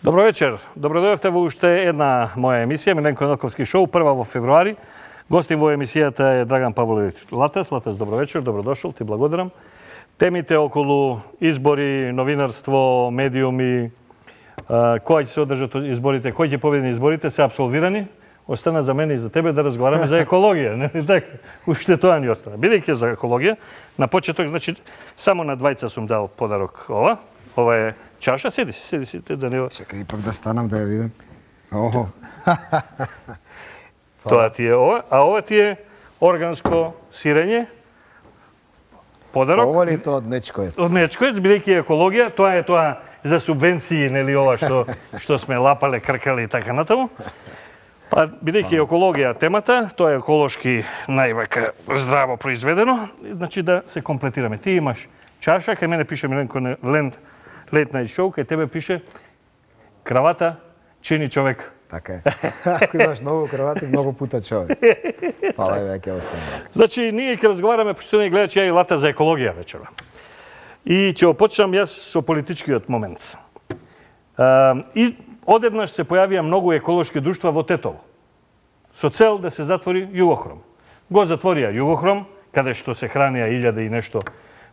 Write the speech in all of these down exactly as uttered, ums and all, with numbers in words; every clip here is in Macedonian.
Добро вечер. Добродојавте во уште една моја емисија, Миленко Ноковски шоу, прва во февруари. Гостин во емисијата е Драган Павлович Латес. Латес, добро вечер, добродошол, ти благодарам. Темите околу избори, новинарство, медиуми, кои ќе се одржат изборите, кои ќе победи изборите, се апсолвирани. Остана за мене и за тебе да разговараме за екологија, нели така? Уште тоа ни остана. Бидејќи за екологија, на почеток, значи, само на двајца сум дал подарок ова. Ова е чаша, седи си, седи си, да не... Чекај ипак да станам да ја видам. Охо. Тоа ти е ова, а ова ти е органско сирење. Подарок. Ова ли тоа од Нечкоец? Од Нечкоец, бидејќи екологија, тоа е тоа за субвенции, нели ова што што сме лапале, кркали и така натаму. Па бидејќи екологија темата, тоа е еколошки највака здраво произведено, значи да се комплетираме. Ти имаш чаша, кај мене пише Миленко Ленд Late Night Show, кај тебе пише кравата чини човек. Така е. Ако имаш многу кравати, многу пута човек. Фала е веќе остане. Значи, ние ќе разговараме, поштени гледачи, ја и Лата за екологија вечера. И ќе опочнам јас со политичкиот момент. И одеднаш се појавија многу еколошки друштва во Тетово, со цел да се затвори Југохром. Го затворија Југохром, каде што се хранија илјаде и нешто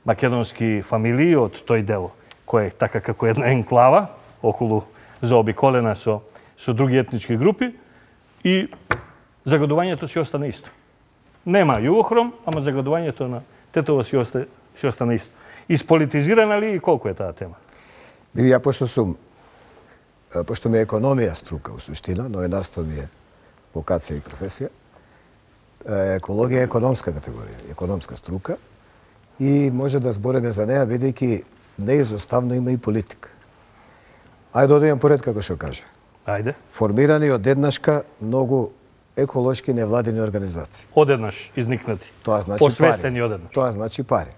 македонски фамилии од тој дел, кој е така како една енклава, околу заобиколена со, со други етнички групи, и загадувањето си остана исто. Нема Југохром, ама загадувањето на Тетово си, оста, си остана исто. Исполитизирана ли и колку е таа тема? Биди, ја пошто сум, пошто ми е економија струка, у суштина, новинарство ми е вокација и професија, екологија е економска категорија, економска струка, и може да збориме за неа, бидејќи неизоставно има и политика. Ајде да одиме поред, како што каже. Ајде. Формирани одеднашка многу еколошки невладини организации. Одеднаш изникнати. Тоа значи посвестени пари. одеднаш. Тоа значи пари.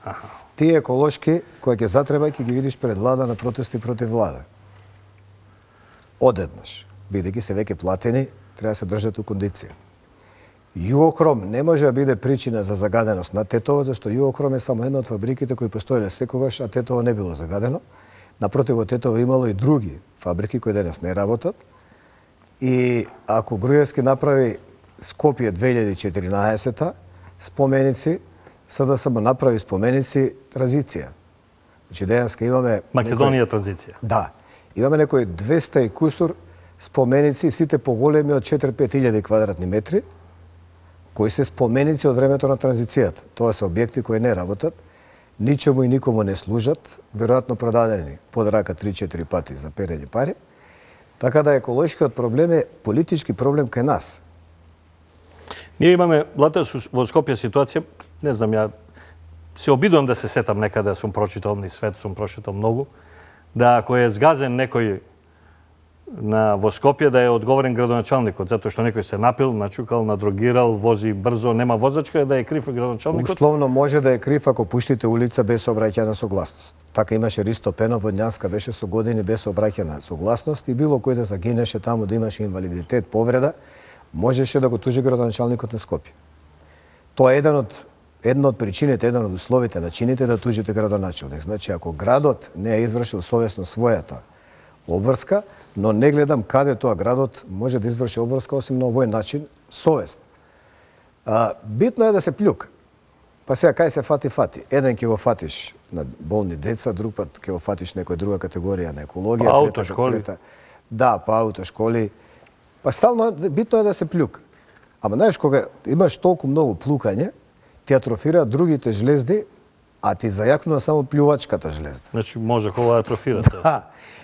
Аха. Тие еколошки кои ќе затреба ќе ги видиш пред влада на протести против влада. Одеднаш, бидејќи се веќе платени, треба да се држат у кондиција. Југохром не може да биде причина за загаденост на Тетово, зашто Југохром е само една од фабриките кои постоеле секогаш, а Тетово не било загадено. Напротив, во Тетово имало и други фабрики кои денес не работат. И ако Груевски направи Скопје две илјади и четиринаесета споменици, СДСМ направи споменици транзиција. Значи денеска имаме Македонија некој... транзиција. Да. Имаме некои двеста и кусур споменици, сите поголеми од четири-пет илјади квадратни метри, кои се споменици од времето на транзицијата. Тоа се објекти кои не работат, ничему и никому не служат, веројатно продадени под рака три-четири пати за перење пари. Така да еколошкиот проблем е политички проблем кај нас. Ние имаме, Лата, во Скопје ситуација, не знам, ја се обидувам да се сетам некаде, сум прочитал, ни свет сум прочитал многу, да ако е згазен некој на во Скопје да е одговорен градоначалникот, затоа што некој се напил, начукал, надрогирал, вози брзо, нема возачка, да е крив градоначалникот. Условно може да е крив ако пуштите улица без обраќајна согласност. Така имаше Ристо Пенов во Њанска, беше со години без обраќајна согласност и било кој да загинеше таму, да имаше инвалидитет, повреда, можеше да го тужи градоначалникот на Скопје. Тоа е еден од една од причините, еден од условите на чините да тужите градоначалник. Значи ако градот не е извршил совесно својата обврска, но не гледам каде тоа градот може да изврши обврска осим на овој начин совесно. А, битно е да се плюка. Па сега кај се фати фати. Еден ќе го фатиш на болни деца, друг пат ќе го фатиш некоја друга категорија на екологија, па, аутошколи. Трета, да, па аутошколи. Па стално битно е да се плюка. Ама знаеш кога имаш толку многу плукање, ти атрофираат другите жлезди, а ти зајакнува само плювачката жлезда. Значи може хова да атрофира тоа.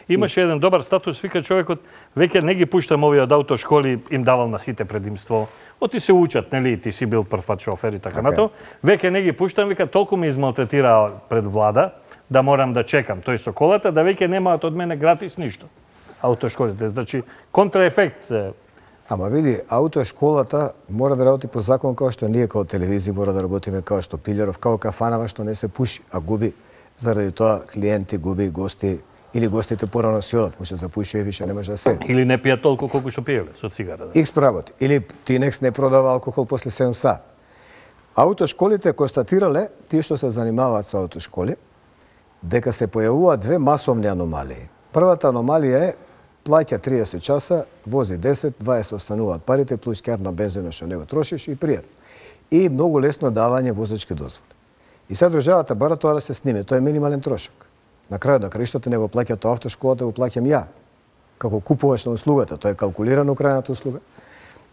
Имаше еден добар статус, вика човекот, веќе не ги пуштам овие од аутошколи, им давал на сите предимство. Оти се учат, нели, ти си бил прв пат шофер и така натаму. Веќе не ги пуштам, вика, толку ме измалтретираа пред влада, да морам да чекам тој со колата, да веќе немаат од мене гратис ништо. аутошколите. Значи, контраефект. Ама види, аутошколата мора да работи по закон како што ние како телевизија мора да работиме како што Пилјаров, како кафанава што не се пуши, а губи заради тоа клиенти, губи гости или гостите порано си одат, му се запуши и више не може да седи. Или не пијат толку колку што пиеле со цигара. Да. Икс прработи. Или Тинекс не продава алкохол после седум сати. Аутошколите констатирале, тие што се занимаваат со аутошколи, дека се појавуваат две масовни аномалии. Првата аномалија е плаќа триесет часа, вози десет, дваесет остануваат парите, плюс кер на бензинот што не го трошиш и пријатно. И многу лесно давање возачки дозволи. И сега државата бара тоа да се сниме, тоа е минимален трошок. На крајот на краиштата не го плаќа тоа автошколата, го плаќам ја. Како купуваш на услугата, тоа е калкулирано крајната услуга.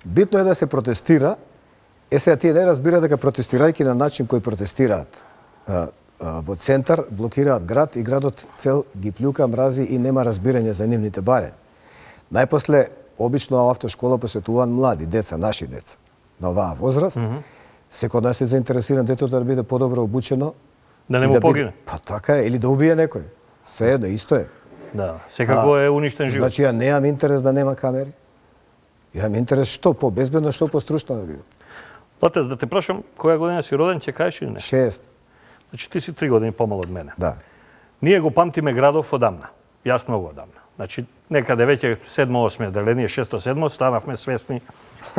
Битно е да се протестира. Е сега тие не разбира дека протестирајќи на начин кој протестираат а, а, во центар, блокираат град и градот цел ги плюка, мрази и нема разбирање за нивните барења. Најпосле, обично автошкола посетуваат млади деца, наши деца, на оваа возраст. Mm -hmm. Секој од нас е заинтересиран детето да биде подобро обучено. Да не му да погине. Биде... Па така е, или да убие некој. Се едно, исто е. Да, секако е уништен живот. Значи, ја немам интерес да нема камери. Ја имам интерес што по-безбедно, што по-стручно да биде. Латец, да те прашам, која година си роден, ќе кажеш или не? Шест. Значи, ти си три години помал од мене. Да. Ние го памтиме градов одамна. Јас многу одамна. Значи, некаде веќе седмо-осмо деление, шесто-седмо, станавме свесни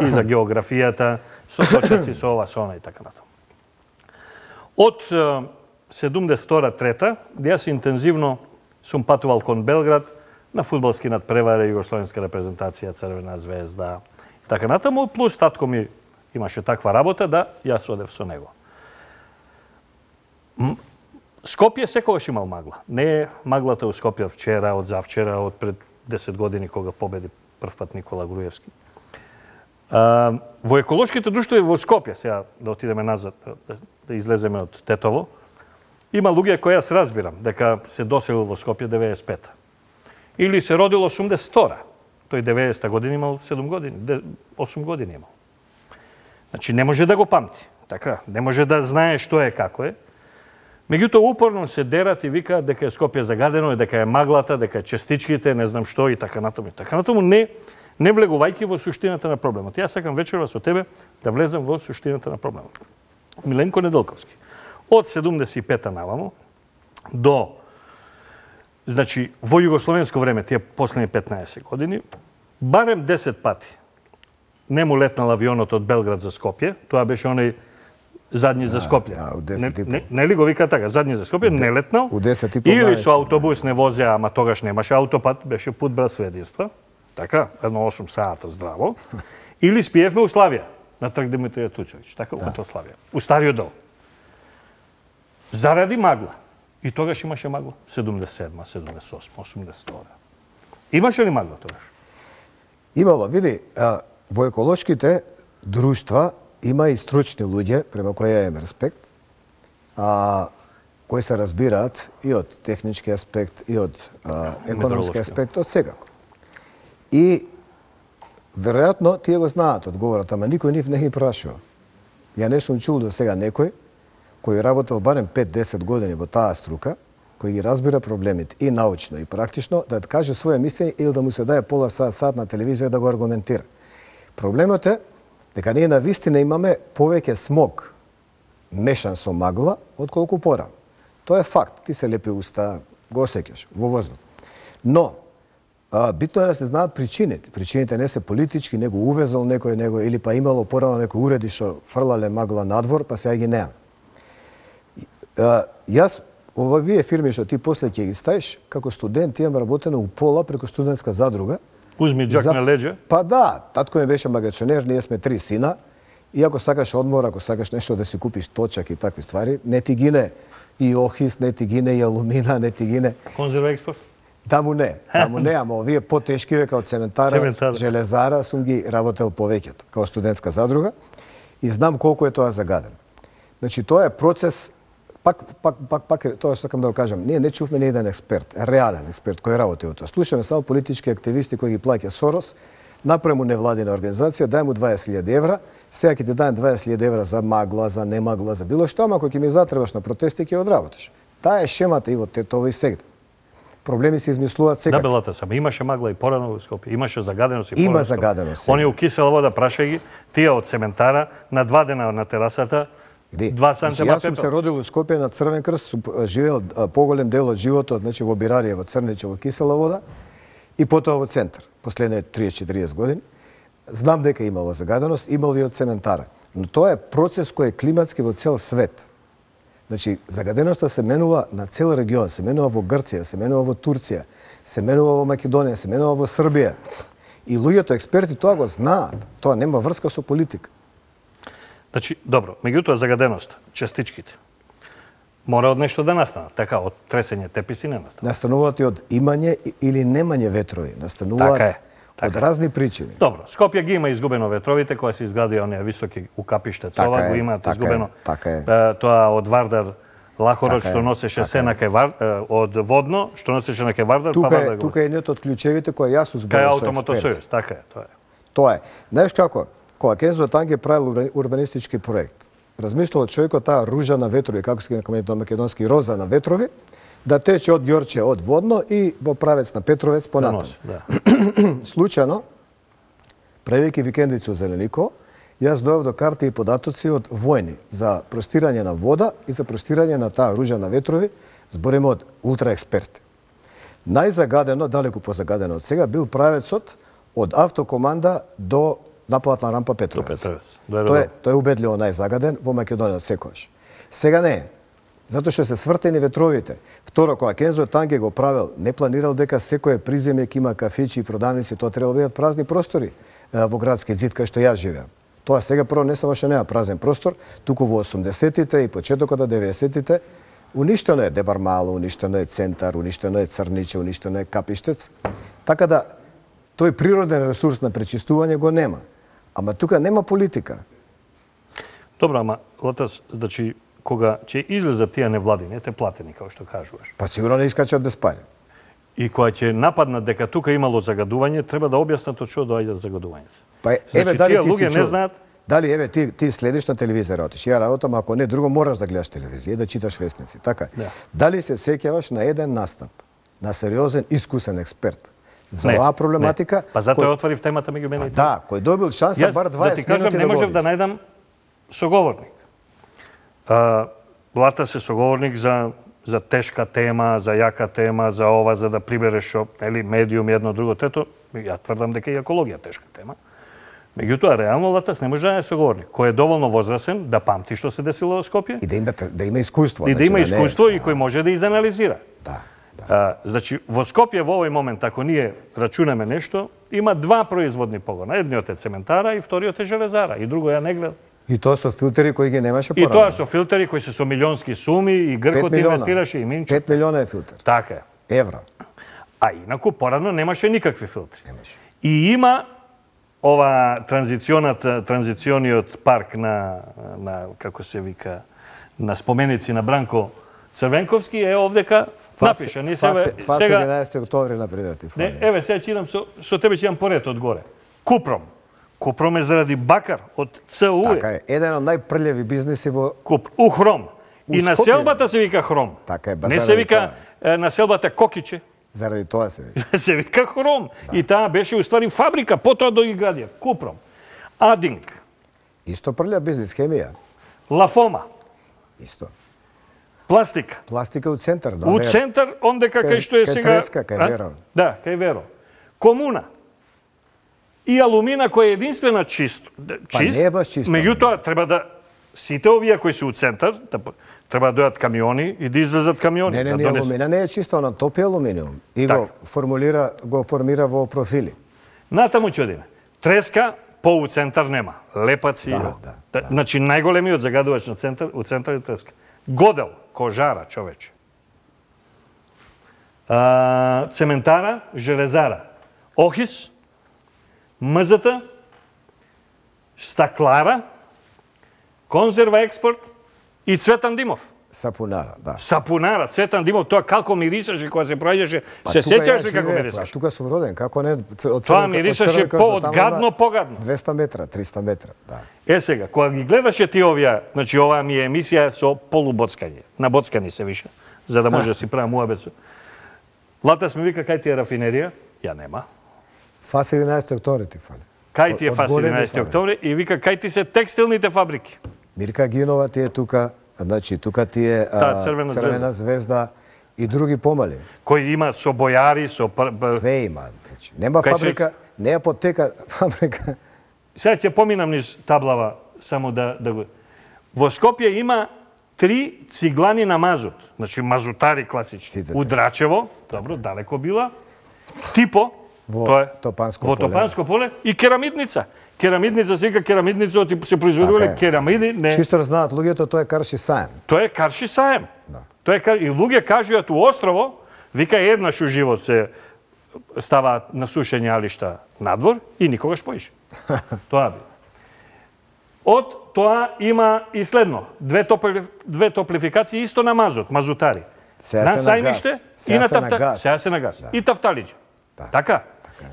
и за географијата, со точаци, со ова, со она и така натаму. Од седумдесет и втора трета, јас интензивно сум патувал кон Белград на фудбалски надпревари, југословенска репрезентација, Црвена звезда и така натаму, плюс татко ми имаше таква работа да јас одев со него. Скопје секогаш имал магла. Не е маглата у Скопје вчера, од завчера, од пред десет години кога победи прв пат Никола Груевски. А, во еколошките друштва во Скопје, сега да отидеме назад, да, да излеземе од Тетово, има луѓе кои јас разбирам дека се доселил во Скопје деветдесет и пета. Или се родил осумдесет и втора. Тој деветдесета година имал седум години, осум години имал. Значи не може да го памти, така, не може да знае што е како е. Меѓутоа упорно се дерат и викаат дека е Скопје загадено, дека е маглата, дека е честичките, не знам што и така натаму. И така натаму не не влегувајќи во суштината на проблемот. Јас сакам вечерва со тебе да влезам во суштината на проблемот. Миленко Неделковски. Од седумдесет и пета наваму до, значи, во југословенско време, тие последни петнаесет години, барем десет пати не му летнал авионот од Белград за Скопје. Тоа беше оној задни за Скопје. Да, у десет и пол. Не, не ли го вика така, задни за Скопје, не летнал. У десет и пол. Или со автобус не возеа, ама тогаш немаше аутопат, беше пут без сведенства. Така, едно осум сата здраво. Или спиевме у Славија, на трг Димитрија Туцовиќ, така, да. У Славија. У стариот дел. Заради магла. И тогаш имаше магла. седумдесет и седма, седумдесет и осма, осумдесет и втора. Имаше ли магла тогаш? Имало, види, а, во еколошките друштва има и стручни луѓе, према кои ја имам респект, а, кои се разбираат и од технички аспект, и од а, економски аспект, од секако. И, веројатно, тие го знаат одговорот, ама никој нив не ги прашува. Ја не сум чул до сега некој кој работел барем пет-десет години во таа струка, кој ги разбира проблемите и научно, и практично, да каже своја мислење или да му се даде пола сат, сат на телевизија да го аргументира. Проблемот е дека ние на вистина имаме повеќе смог мешан со магла, отколку порано. Тоа е факт. Ти се лепи уста, го осеќаш во воздух. Но, а, битно е да се знаат причините. Причините не се политички, него увезал некој него, или па имало порано некој уреди што фрлале магла надвор, па сега ги неа. Јас, овие фирми што ти после ќе ги ставиш, како студент имам работено у пола преку студентска задруга. Узми джак За... на леđa. Па да, татко ми беше магационер, ние сме три сина. И ако сакаш одмор, ако сакаш нешто да си купиш точак и такви ствари, не ти гине и охис, не ти гине и алумина, не ти гине. Конзерва експорт? Таму не, таму не, ама овие потешкиве како цементара, Цементара. железара, сум ги работел повеќето, како студентска задруга и знам колку е тоа загадено. Значи тоа е процес. Пак, пак, пак, пак, тоа што сакам да го кажам, ние не чувме ни еден експерт, реален експерт кој работи во тоа. Слушаме само политички активисти кои ги плаќа Сорос, направи му невладина организација, дај му дваесет илјади евра, сега ќе ти дајам дваесет илјади евра за магла, за немагла, за било што, ама кој ќе ми затребаш на протести ќе одработиш. Таа е шемата и во Тетово и сегде. Проблеми се измислуваат Да, секако. белата сама. Имаше магла и порано во Скопје, имаше загаденост и порано. Има загаденост. Они у кисела вода прашај ги, тие од цементара на два дена на терасата. Где? Два Значи, сантима јас сум се пепел. родил во Скопје на Црвен крст, сум живеел а, поголем дел од животот, значи во Бирарија, во Црниче, во кисела вода и потоа во центар, последните триесет-четириесет години. Знам дека имало загаденост, имало и од цементара. Но тоа е процес кој е климатски во цел свет. Значи, загаденоста се менува на цел регион, се менува во Грција, се менува во Турција, се менува во Македонија, се менува во Србија. И луѓето експерти тоа го знаат. Тоа нема врска со политика. Значи, добро, меѓутоа загаденост, частичките, мора од нешто да настанат. Така, од тресење теписи не настанат. Настануваат и од имање или немање ветрови. Настануваат Така е, така од е. разни причини. Добро, Скопје ги има изгубено ветровите, кога се изградија оние високи укапиште цова, Така е, го имаат така изгубено. е, така е. Е, Тоа од Вардар Лахорот Така што е, носеше така се е. на кај Вар, е, од водно, што носеше на кај Вардар, па Тука Вардар е, го. тука е едниот од клучевите кој јас Кај узборав со Автомотосојуз, експерти. така е, тоа е. Тоа е. Знаеш како? Кога Кензо Танге правил урбани- урбанистички проект, размислувал човекот таа ружа на ветрови, како се кажа на македонски роза на ветрови, да тече од Ѓорче од водно и во правец на Петровец Да понатаму. носи, да. Случајно, правејќи викендици во Зеленико, јас дојав до карти и податоци од војни за простирање на вода и за простирање на таа ружа на ветрови, збориме од ултраексперти. Најзагадено, далеку позагадено од сега, бил правецот од автокоманда до наплатна рампа Петровец. До Петровец, до Тој е, аеродrom. тој е убедливо најзагаден во Македонија од секојаш. Сега не е. Затоа што се свртени ветровите. Второ, кога Кензо Танге го правил, не планирал дека секој приземје ќе има кафичи и продавници, тоа треба да бидат празни простори е, во градски зид кај што јас живеам. Тоа сега прво не само што нема празен простор, туку во осумдесетите и почетокот на деветдесетите уништено е Дебармало, уништено е Центар, уништено е Црниче, уништено е Капиштец. Така да тој природен ресурс на пречистување го нема. Ама тука нема политика. Добро, ама Латас, значи кога ќе излезат тие невладини, ете платени како што кажуваш. Па сигурно не искачат без пари. И кога ќе нападнат дека тука имало загадување, треба да објаснат од што доаѓаат загадувањето. Па Значи, еве дали тие ти си луѓе не чул? знаат. Дали еве ти ти следиш на телевизија работиш. Ја работам, ако не друго можеш да гледаш телевизија, да читаш вестници, така? Да. Дали се сеќаваш на еден настап на сериозен искусен експерт за Не, оваа проблематика? не. Па затоа кој- ја отворив темата меѓу мене Па и ти. да, кој добил шанса Јас, бар да ти дваесет кажам, минути не да го можев да објасни. најдам соговорник. А, Лата се соговорник за за тешка тема, за јака тема, за ова, за да прибереш шо, нели, медиум и едно друго трето. Ја тврдам дека и екологија тешка тема. Меѓутоа, реално Латас не може да е соговорник, кој е доволно возрасен да памти што се десило во Скопје И да има да има искуство, и да значи, има не- искуство и кој може да изанализира. Да, да. А, значи, во Скопје во овој момент, ако ние рачунаме нешто, има два производни погона. Едниот е цементара и вториот е железара. И друго ја не гледам. И тоа со филтери кои ги немаше И порано. тоа со филтери кои се со милионски суми и Гркот инвестираше и Минчо. пет милиона е филтер. Така е. Евра. А инаку порано немаше никакви филтри. Немаше. И има ова транзиционата, транзициониот парк на, на како се вика, на споменици на Бранко Црвенковски е овдека напиша. Не Фасе, себе, фасе сега, единаесети октомври например ти не, фали. еве сега читам со, со тебе ќе имам поред одгоре. Купром. Купром е заради бакар од ЦУ. Така е, еден од најпрљави бизнеси во Куп, у Хром. У И Скопје. населбата се вика Хром. Така е, ба Не се заради вика е, населбата Кокиче. заради тоа се вика. се вика Хром. И таа беше уствари фабрика, потоа до ги градија. Купром. Адинг. Исто прљав бизнис, хемија. Лафома. Исто. Пластика. Пластика у центар, да. У Вера. центар, ондека Кај- кај што е кај сега... Треска, кај А? Веро. Да, кај Веро. Комуна. И алумина која е единствена чист, Па чист. не е баш чиста, Меѓутоа треба да сите овие кои се у центар, да, треба да дојат камиони и да излезат камиони. Не, не, да не, донесат. алумина не е чисто, она топи алуминиум и го Така. формулира го формира во профили. Натаму ќе одиме. Треска по у центар нема. Лепаци. Да, да, да. Значи најголемиот загадувач на центар, у центар е треска. Годел, кожара, човече. А, цементара, железара. Охис, мзата, стаклара, конзерва експорт и Цветан Димов. Сапунара, да. Сапунара, Цветан Димов, тоа како мирисаше кога се проаѓаше. Па Се тука сеќаш ја ли како живеев, мирисаше? па тука сум роден, како не? Од Тоа Црвен- од мирисаше Црвен крст по до од таму гадно на погадно. двесте метра, триста метра, да. Е сега, кога ги гледаше ти овие, значи оваа ми е емисија со полубоцкање. На боцкани се више, за да може да си правам уабецо. Лата сме вика, кај ти е рафинерија? Ја нема. Фас единаесети октомври ти фали. Кај ти е Од Фас големи единаесети фабрики. октомври и вика, кај ти се текстилните фабрики. Мирка Гинова ти е тука, значи тука ти е а, Таа црвена црвена звезда и други помали. Кој има со бојари, со... пр- б- Све има. Значи, нема Кај се- фабрика, не е апотека, фабрика. Сега ќе поминам низ таблава, само да, да го... Во Скопје има три циглани на мазут. Значи мазутари класични. Сите У Драчево, добро, далеко била. Типо, Во тоа е, Топанско во поле. Топанско поле. И керамидница. Керамидница се вика керамидница, оти се произведувале Така е. керамиди. Не, Чисто знаат луѓето, тоа е карши саем. тоа е карши саем. Да. Тоа е кар... И луѓе кажуваат у острово, вика еднаш у живот се ставаат на сушење алишта надвор и никогаш поише. Тоа би. Од тоа има и следно. Две, топли... Две топлификации исто на мазот, мазутари. Сега на се на сајмиште газ. и Сега на се на тафта... газ. Сега се на газ. Да. И тафталиџе. Да. Така?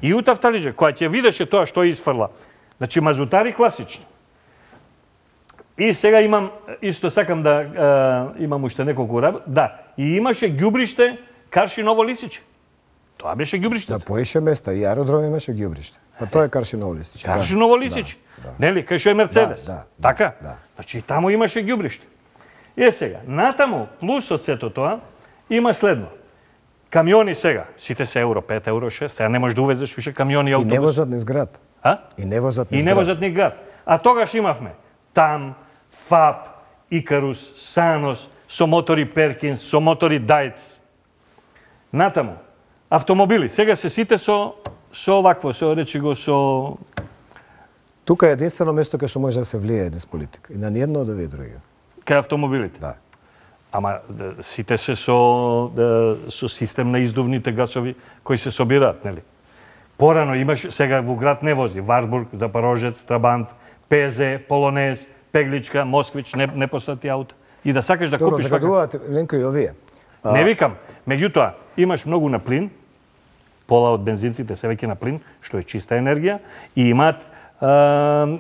И у тафталиџе, која ќе видеше тоа што изфрла. Значи мазутари класични. И сега имам, исто сакам да а, имам уште неколку работи. Да, и имаше ѓубриште Карши Ново Лисиче. Тоа беше ѓубриште. На поише места и аеродром имаше ѓубриште. Па тоа е карши ново листиче. Карши Ново Лисиче. Нели, кај што е Мерцедес. Да, да, така? да. Значи и таму имаше ѓубриште. Е сега, натаму плюс од сето тоа има следно. Камиони сега, сите се евро пет, евро шест, сега не можеш да увезеш више камиони и И автобуси. не возат низ град. А? И не возат низ И не град. возат ни град. А тогаш имавме Там, ФАП, Икарус, Санос, со мотори Перкинс, со мотори Дајц. Натаму, автомобили. Сега се сите со, со овакво, со речи го со... Тука е единствено место кај што може да се влијае низ политика. И на ниедно од овие други. кај автомобилите. Да. Ама да, сите се со, да, со систем на издувните гасови кои се собираат, нели? Порано имаш, сега во град не вози, Варбург, Запорожец, Трабант, ПЗ, Полонез, Пегличка, Москвич, не, не постати ауто. И да сакаш да Добро, купиш вака... загадуваат Ленко и овие. А, Не викам. Меѓутоа, имаш многу на плин, пола од бензинците се веќе на плин, што е чиста енергија, и имаат а,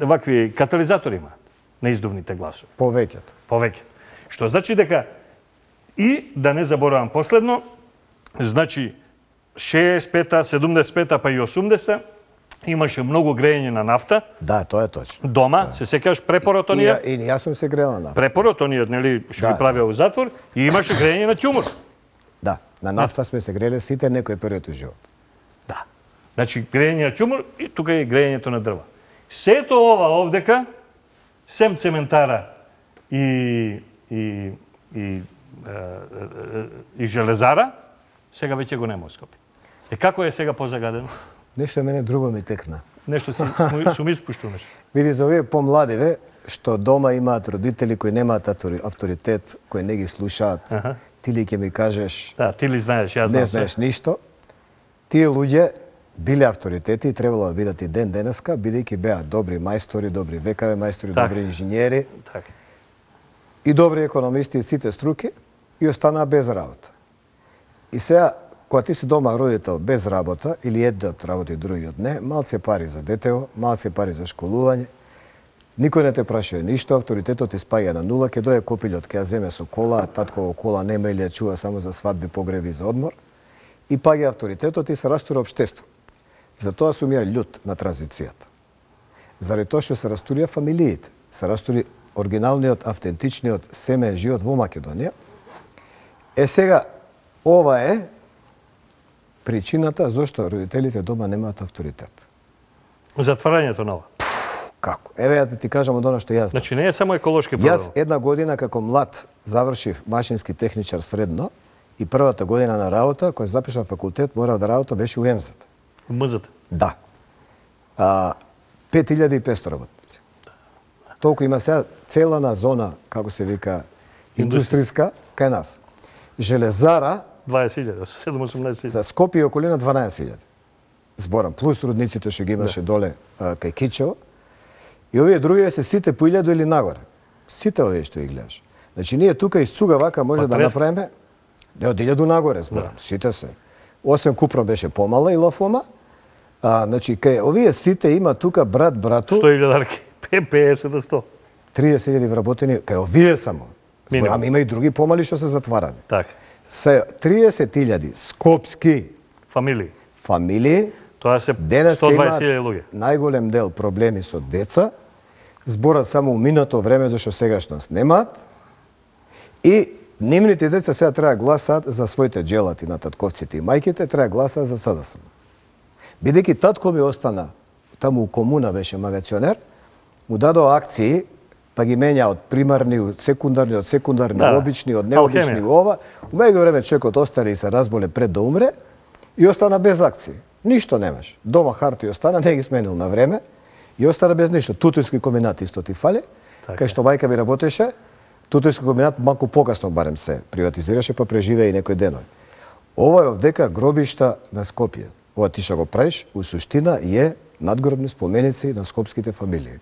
вакви катализатори имаат на издувните гласови. повеќето. Повеќе. Што значи дека и да не заборавам последно, значи шеесет пета, седумдесет пета па и осумдесета имаше многу грејење на нафта Да, тоа е точно. дома, да. Се сеќаш препорот И, оние, ја- и јас сум се грела на. препорот оние, нели, што Да, ги правеа у затвор и имаше грејење на ќумур. Да, на нафта сме се греле сите некој период од живот. Да. Значи, грејење на ќумур и тука е грејењето на дрва. Сето ова овдека, сем цементара и, и, и, и, и железара, сега веќе го нема во Скопје. Е како е сега позагадено? Нешто мене друго ми текна. Нешто си, сум- сум испуштунеш. Види, за овие помладиве, што дома имаат родители кои немаат автори- авторитет, кои не ги слушаат, Аха. ти ли ќе ми кажеш, Да, ти ли знаеш, јас знам не се. знаеш ништо, тие луѓе биле авторитети и требало да бидат и ден денеска, бидејќи беа добри мајстори, добри векаве мајстори, Така. добри инженери Така. и добри економисти и сите струки и останаа без работа. И сега, кога ти си дома родител без работа, или едниот работи, другиот не, малце пари за детево, малце пари за школување, никој не те прашува ништо, авторитетот ти спаѓа на нула, ќе дое копилот, ќе ја земе со кола, татково кола нема или ја чува само за свадби, погреби и за одмор, и паѓа авторитетот и се растура општество. Затоа сум ја љут на транзицијата. Заради тоа што се растурија фамилиите, се растури оригиналниот, автентичниот семеен живот во Македонија. Е сега, ова е причината зашто родителите дома немаат авторитет. Затварањето на ова. Како? Еве ја да ти кажам од она што јас знам. Значи не е само еколошки Јас проблем. една година како млад завршив машински техничар средно и првата година на работа, која запишав факултет, морав да работам, беше у ЕМЗ-ата. Мзата. Да. А, пет илјади и петсто работници. Толку има сега цела на зона, како се вика, индустријска, кај нас. Железара дваесет илјади, седум осумнаесет илјади. за Скопје и околина дванаесет илјади. Зборам, плюс рудниците што ги имаше доле а, кај Кичево. И овие други се сите по илјаду или нагоре. Сите овие што ги гледаш. Значи ние тука из цуга вака може Па, да трес- направиме не од илјаду нагоре, зборам, сите се. Осем Купро беше помала и Лафома. А, значи кај овие сите има тука брат брату сто илјадарки, петдесет до сто. триесет илјади вработени, кај овие само. Зборам, Минимум. има и други помали што се затварани. Така. се триесет илјади скопски Фамилии. фамилии. Тоа се Денес сто дваесет имаат илјади луѓе. најголем дел проблеми со деца, зборат само уминато време зашто сегашност немаат, и нивните деца сега треба гласаат за своите джелати на татковците и мајките, треба гласаат за СДСМ. Бидејќи татко ми остана таму у комуна, беше магационер, му дадоа акции, па ги менја од примарни, од секундарни, од секундарни, Да, обични, од необични алхемија. ова. У меѓу време човекот остари и се разболе пред да умре и остана без акции. Ништо немаш. Дома харти остана, не ги сменил на време и остана без ништо. Тутујски комбинат исто ти фали, Така. кај што мајка ми работеше. Тутујски комбинат малку покасно барем се приватизираше, па преживее и некој денови. Ова е овдека гробишта на Скопје. Ова ти што го правиш, у суштина е надгробни споменици на скопските фамилии.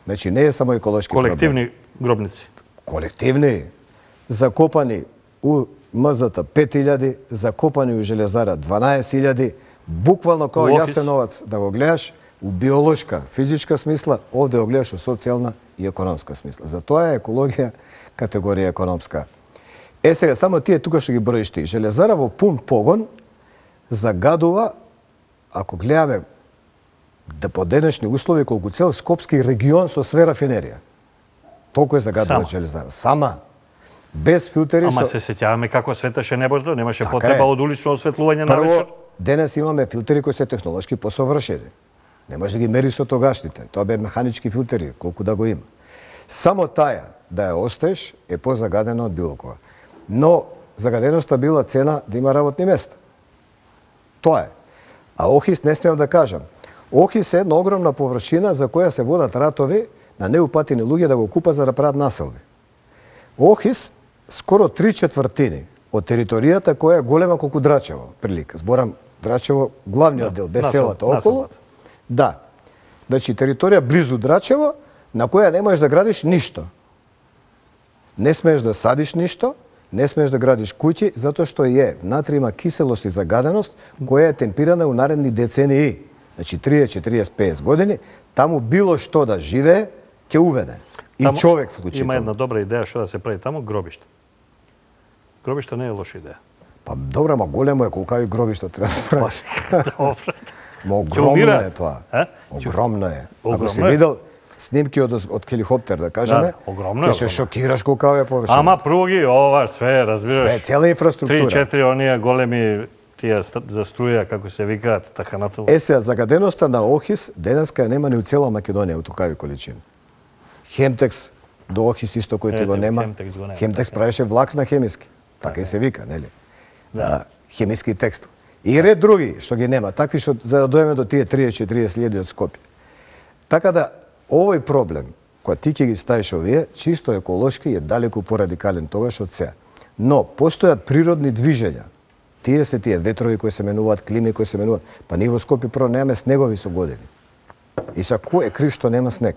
Значи не е само еколошки проблем. Колективни гробници. Колективни, закопани у МЗТ пет илјади, закопани у Железара дванаесет илјади, буквално као У Охис. Јасеновац да го гледаш у биолошка, физичка смисла, овде го гледаш у социјална и економска смисла. Затоа е екологија категорија економска. Е сега, само тие тука што ги броиш ти. Железара во пун погон загадува, ако гледаме да по денешни услови колку цел Скопски регион со све рафинерија. Толку е загадува Сама. Железара. Сама. Без филтери. Ама со... се сеќаваме како светеше небото, немаше Така потреба е. од улично осветлување на Прво, вечер. денес имаме филтери кои се технолошки посовршени. Не може да ги мери со тогашните. Тоа бе механички филтери, колку да го има. Само таја да ја оставиш е позагадена од било кога. Но загаденоста била цена да има работни места. Тоа е. А Охис не смеам да кажам. Охис е една огромна површина за која се водат ратови на неупатени луѓе да го купат за да прават населби. Охис скоро три четвртини од територијата која е голема колку Драчево, прилика. Зборам Драчево, главниот дел, без насел- селата околу. населбата. Да. Значи територија близу Драчево на која не можеш да градиш ништо. Не смееш да садиш ништо, не смееш да градиш куќи, затоа што е внатре има киселост и загаденост која е темпирана у наредни децении. Значи триесет, четириесет, петдесет години, таму било што да живее, ќе уведе. И Таму човек Има вклучително. една добра идеја што да се прави таму, гробиште. Гробиште не е лоша идеја. Па добро, ма големо е колкави гробишта треба да правиш. Добро. Ма Ќе огромно умираат. е тоа. Е? Огромно е. Ако Огромно си е. видел снимки од, од хеликоптер, да кажеме, Да, огромно е, ќе се огромно. шокираш колкава е површина. Ама пруги, ова, све, разбираш. Све, цела инфраструктура. Три-четири оние големи тие ст- за струја, како се викаат, така натаму. Е, сега, загаденоста на Охис денеска ја нема ни у цела Македонија у толкави количини. Хемтекс до Охис исто кој ти Ете, го нема. Хемтекс го нема, Хемтекс така е. правеше влак на хемиски. Така и се вика, нели? Да. Хемиски текст. И ред други што ги нема, такви што за да дојдеме до тие триесет четириесет илјади од Скопје. Така да овој проблем кој ти ќе ги ставиш овие, чисто еколошки е далеку порадикален тогаш од сега. Но постојат природни движења. Тие се тие ветрови кои се менуваат, клими кои се менуваат. Па ние во Скопје прво немаме снегови со години. И са кој е крив што нема снег?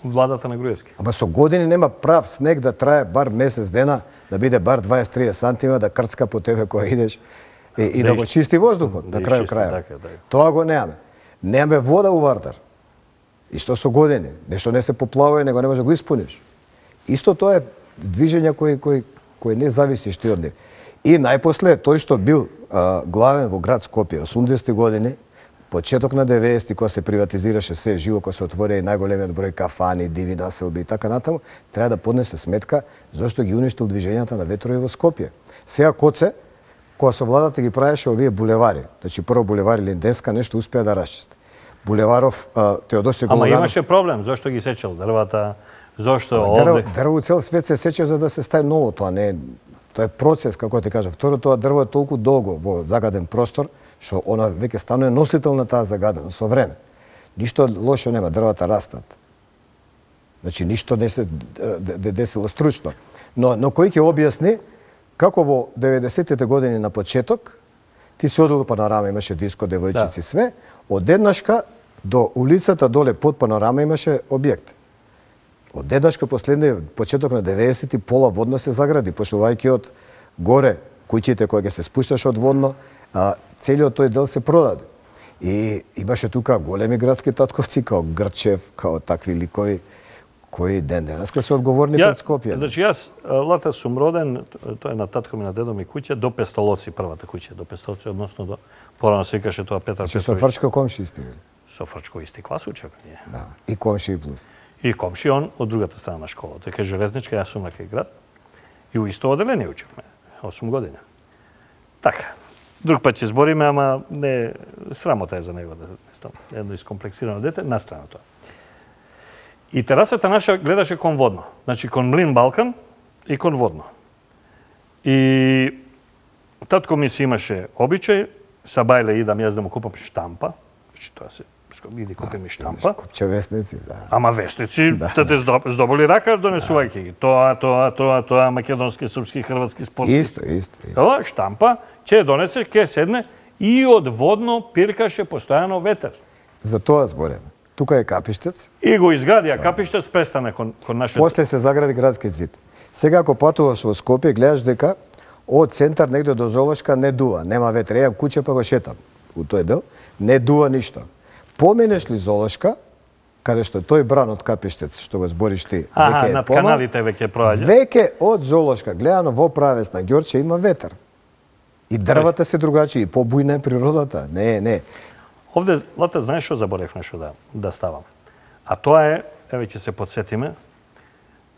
Владата на Груевски. Ама со години нема прав снег да трае бар месец дена, да биде бар дваесет до триесет сантима, да крцка по тебе кога идеш и, и да, Да го ис- чисти воздухот да на крај изчисти, крај. така, така. Тоа го немаме. Немаме вода у Вардар. Исто со години. Нешто не се поплавува, него не може да го испуниш. Исто тоа е движења кои кои кои не зависиш ти од нив. И најпосле тој што бил а, главен во град Скопје осумдесети години, почеток на деветдесети кога се приватизираше се живо, кога се отворија и најголемиот број кафани, диви населби и така натаму, треба да поднесе сметка зашто ги уништил движењата на ветрови во Скопје. Сега Коце, кога со владата ги правеше овие булевари, значи прво булевари Линденска нешто успеа да расчисти. Булеваров а, Теодосиј Ама Гологанов. имаше проблем, зашто ги сечел дрвата, зашто Дрво, овде... дрво цел свет се сече за да се стави ново, тоа не е, тоа е процес, како ти кажа. Второ, тоа дрво е толку долго во загаден простор, што она веќе станува носител на таа загаденост со време. Ништо лошо нема, дрвата растат. Значи ништо не се д- д- десило стручно. Но но кој ќе објасни како во деветдесетите години на почеток ти си одел панорама, имаше диско, девојчици, Да. све, одеднашка до улицата доле под панорама имаше објект. Одеднашка последни почеток на деветдесети пола водно се загради, почнувајќи од горе куќите кои ќе се спушташ од водно, а целиот тој дел се продаде. И имаше тука големи градски татковци, као Грчев, као такви ликови, кои ден денеска се одговорни Ја, пред Скопје. Значи јас лата сум роден, тоа е на татко ми на дедо ми куќа до Пестолоци, првата куќа до Пестолоци, односно до порано се викаше тоа Петар Че со Петровиќ. Фрчко комши исти били. Со Фрчко исти клас учев ние. Да. И комши и плюс. И комши он од другата страна на школа. Дека железничка, јас сум на кај град. И у исто оделение учевме, осум години. Така. Друг пат ќе збориме, ама не срамота е за него да стам едно искомплексирано дете, на страна тоа. И терасата наша гледаше кон водно. Значи кон Млин Балкан и кон водно. И татко ми си имаше обичај, са бајле идам јас да му купам штампа. Значи тоа се иди купи ми штампа. Купче вестници, да. Ама вестници, да, да те здоболи рака донесувајќи ги. Тоа, тоа, тоа, тоа, македонски, српски, хрватски, спортски. Исто, исто, исто. Ова штампа, ќе донесе, ќе седне и од водно пиркаше постојано ветер. За тоа збореме. Тука е Капиштец. И го изградија Капиштец, престане кон, кон нашето... После се загради градски зид. Сега ако патуваш во Скопје, гледаш дека од центар негде до Золошка не дува, нема ветер. Еам куќе па го шетам у тој дел, не дува ништо. Поменеш ли Золошка, каде што тој бран од Капиштец, што го збориш ти, Аха, веќе е над помал, каналите веќе проаѓа. веќе од Золошка, гледано во правец на Ѓорче, има ветер. И дрвата се другачи, и побујна е природата. Не, не. Овде, лата, знаеш што заборев нешто да, да ставам? А тоа е, еве ќе се подсетиме,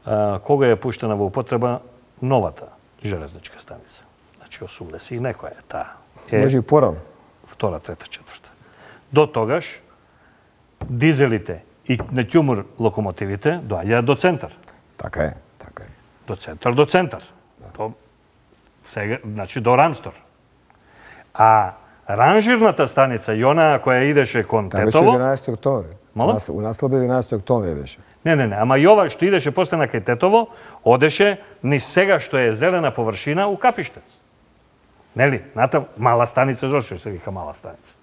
а, кога е пуштена во употреба новата железничка станица. Значи осумдесет и некоја е таа. Е, Може и порано. втора, трета, четврта. До тогаш, дизелите и на ќумур локомотивите доаѓаат до центар. Така е, така е. До центар, до центар. До, сега, значи до Рамстор. А ранжирната станица, и она која идеше кон Така беше Тетово... единаесети октомври. Мала? Нас- У наслоби единаесети октомври беше. Не, не, не, ама и ова што идеше после на кај Тетово, одеше низ сега што е зелена површина у Капиштец. Нели? Натам мала станица, зошто се вика мала станица.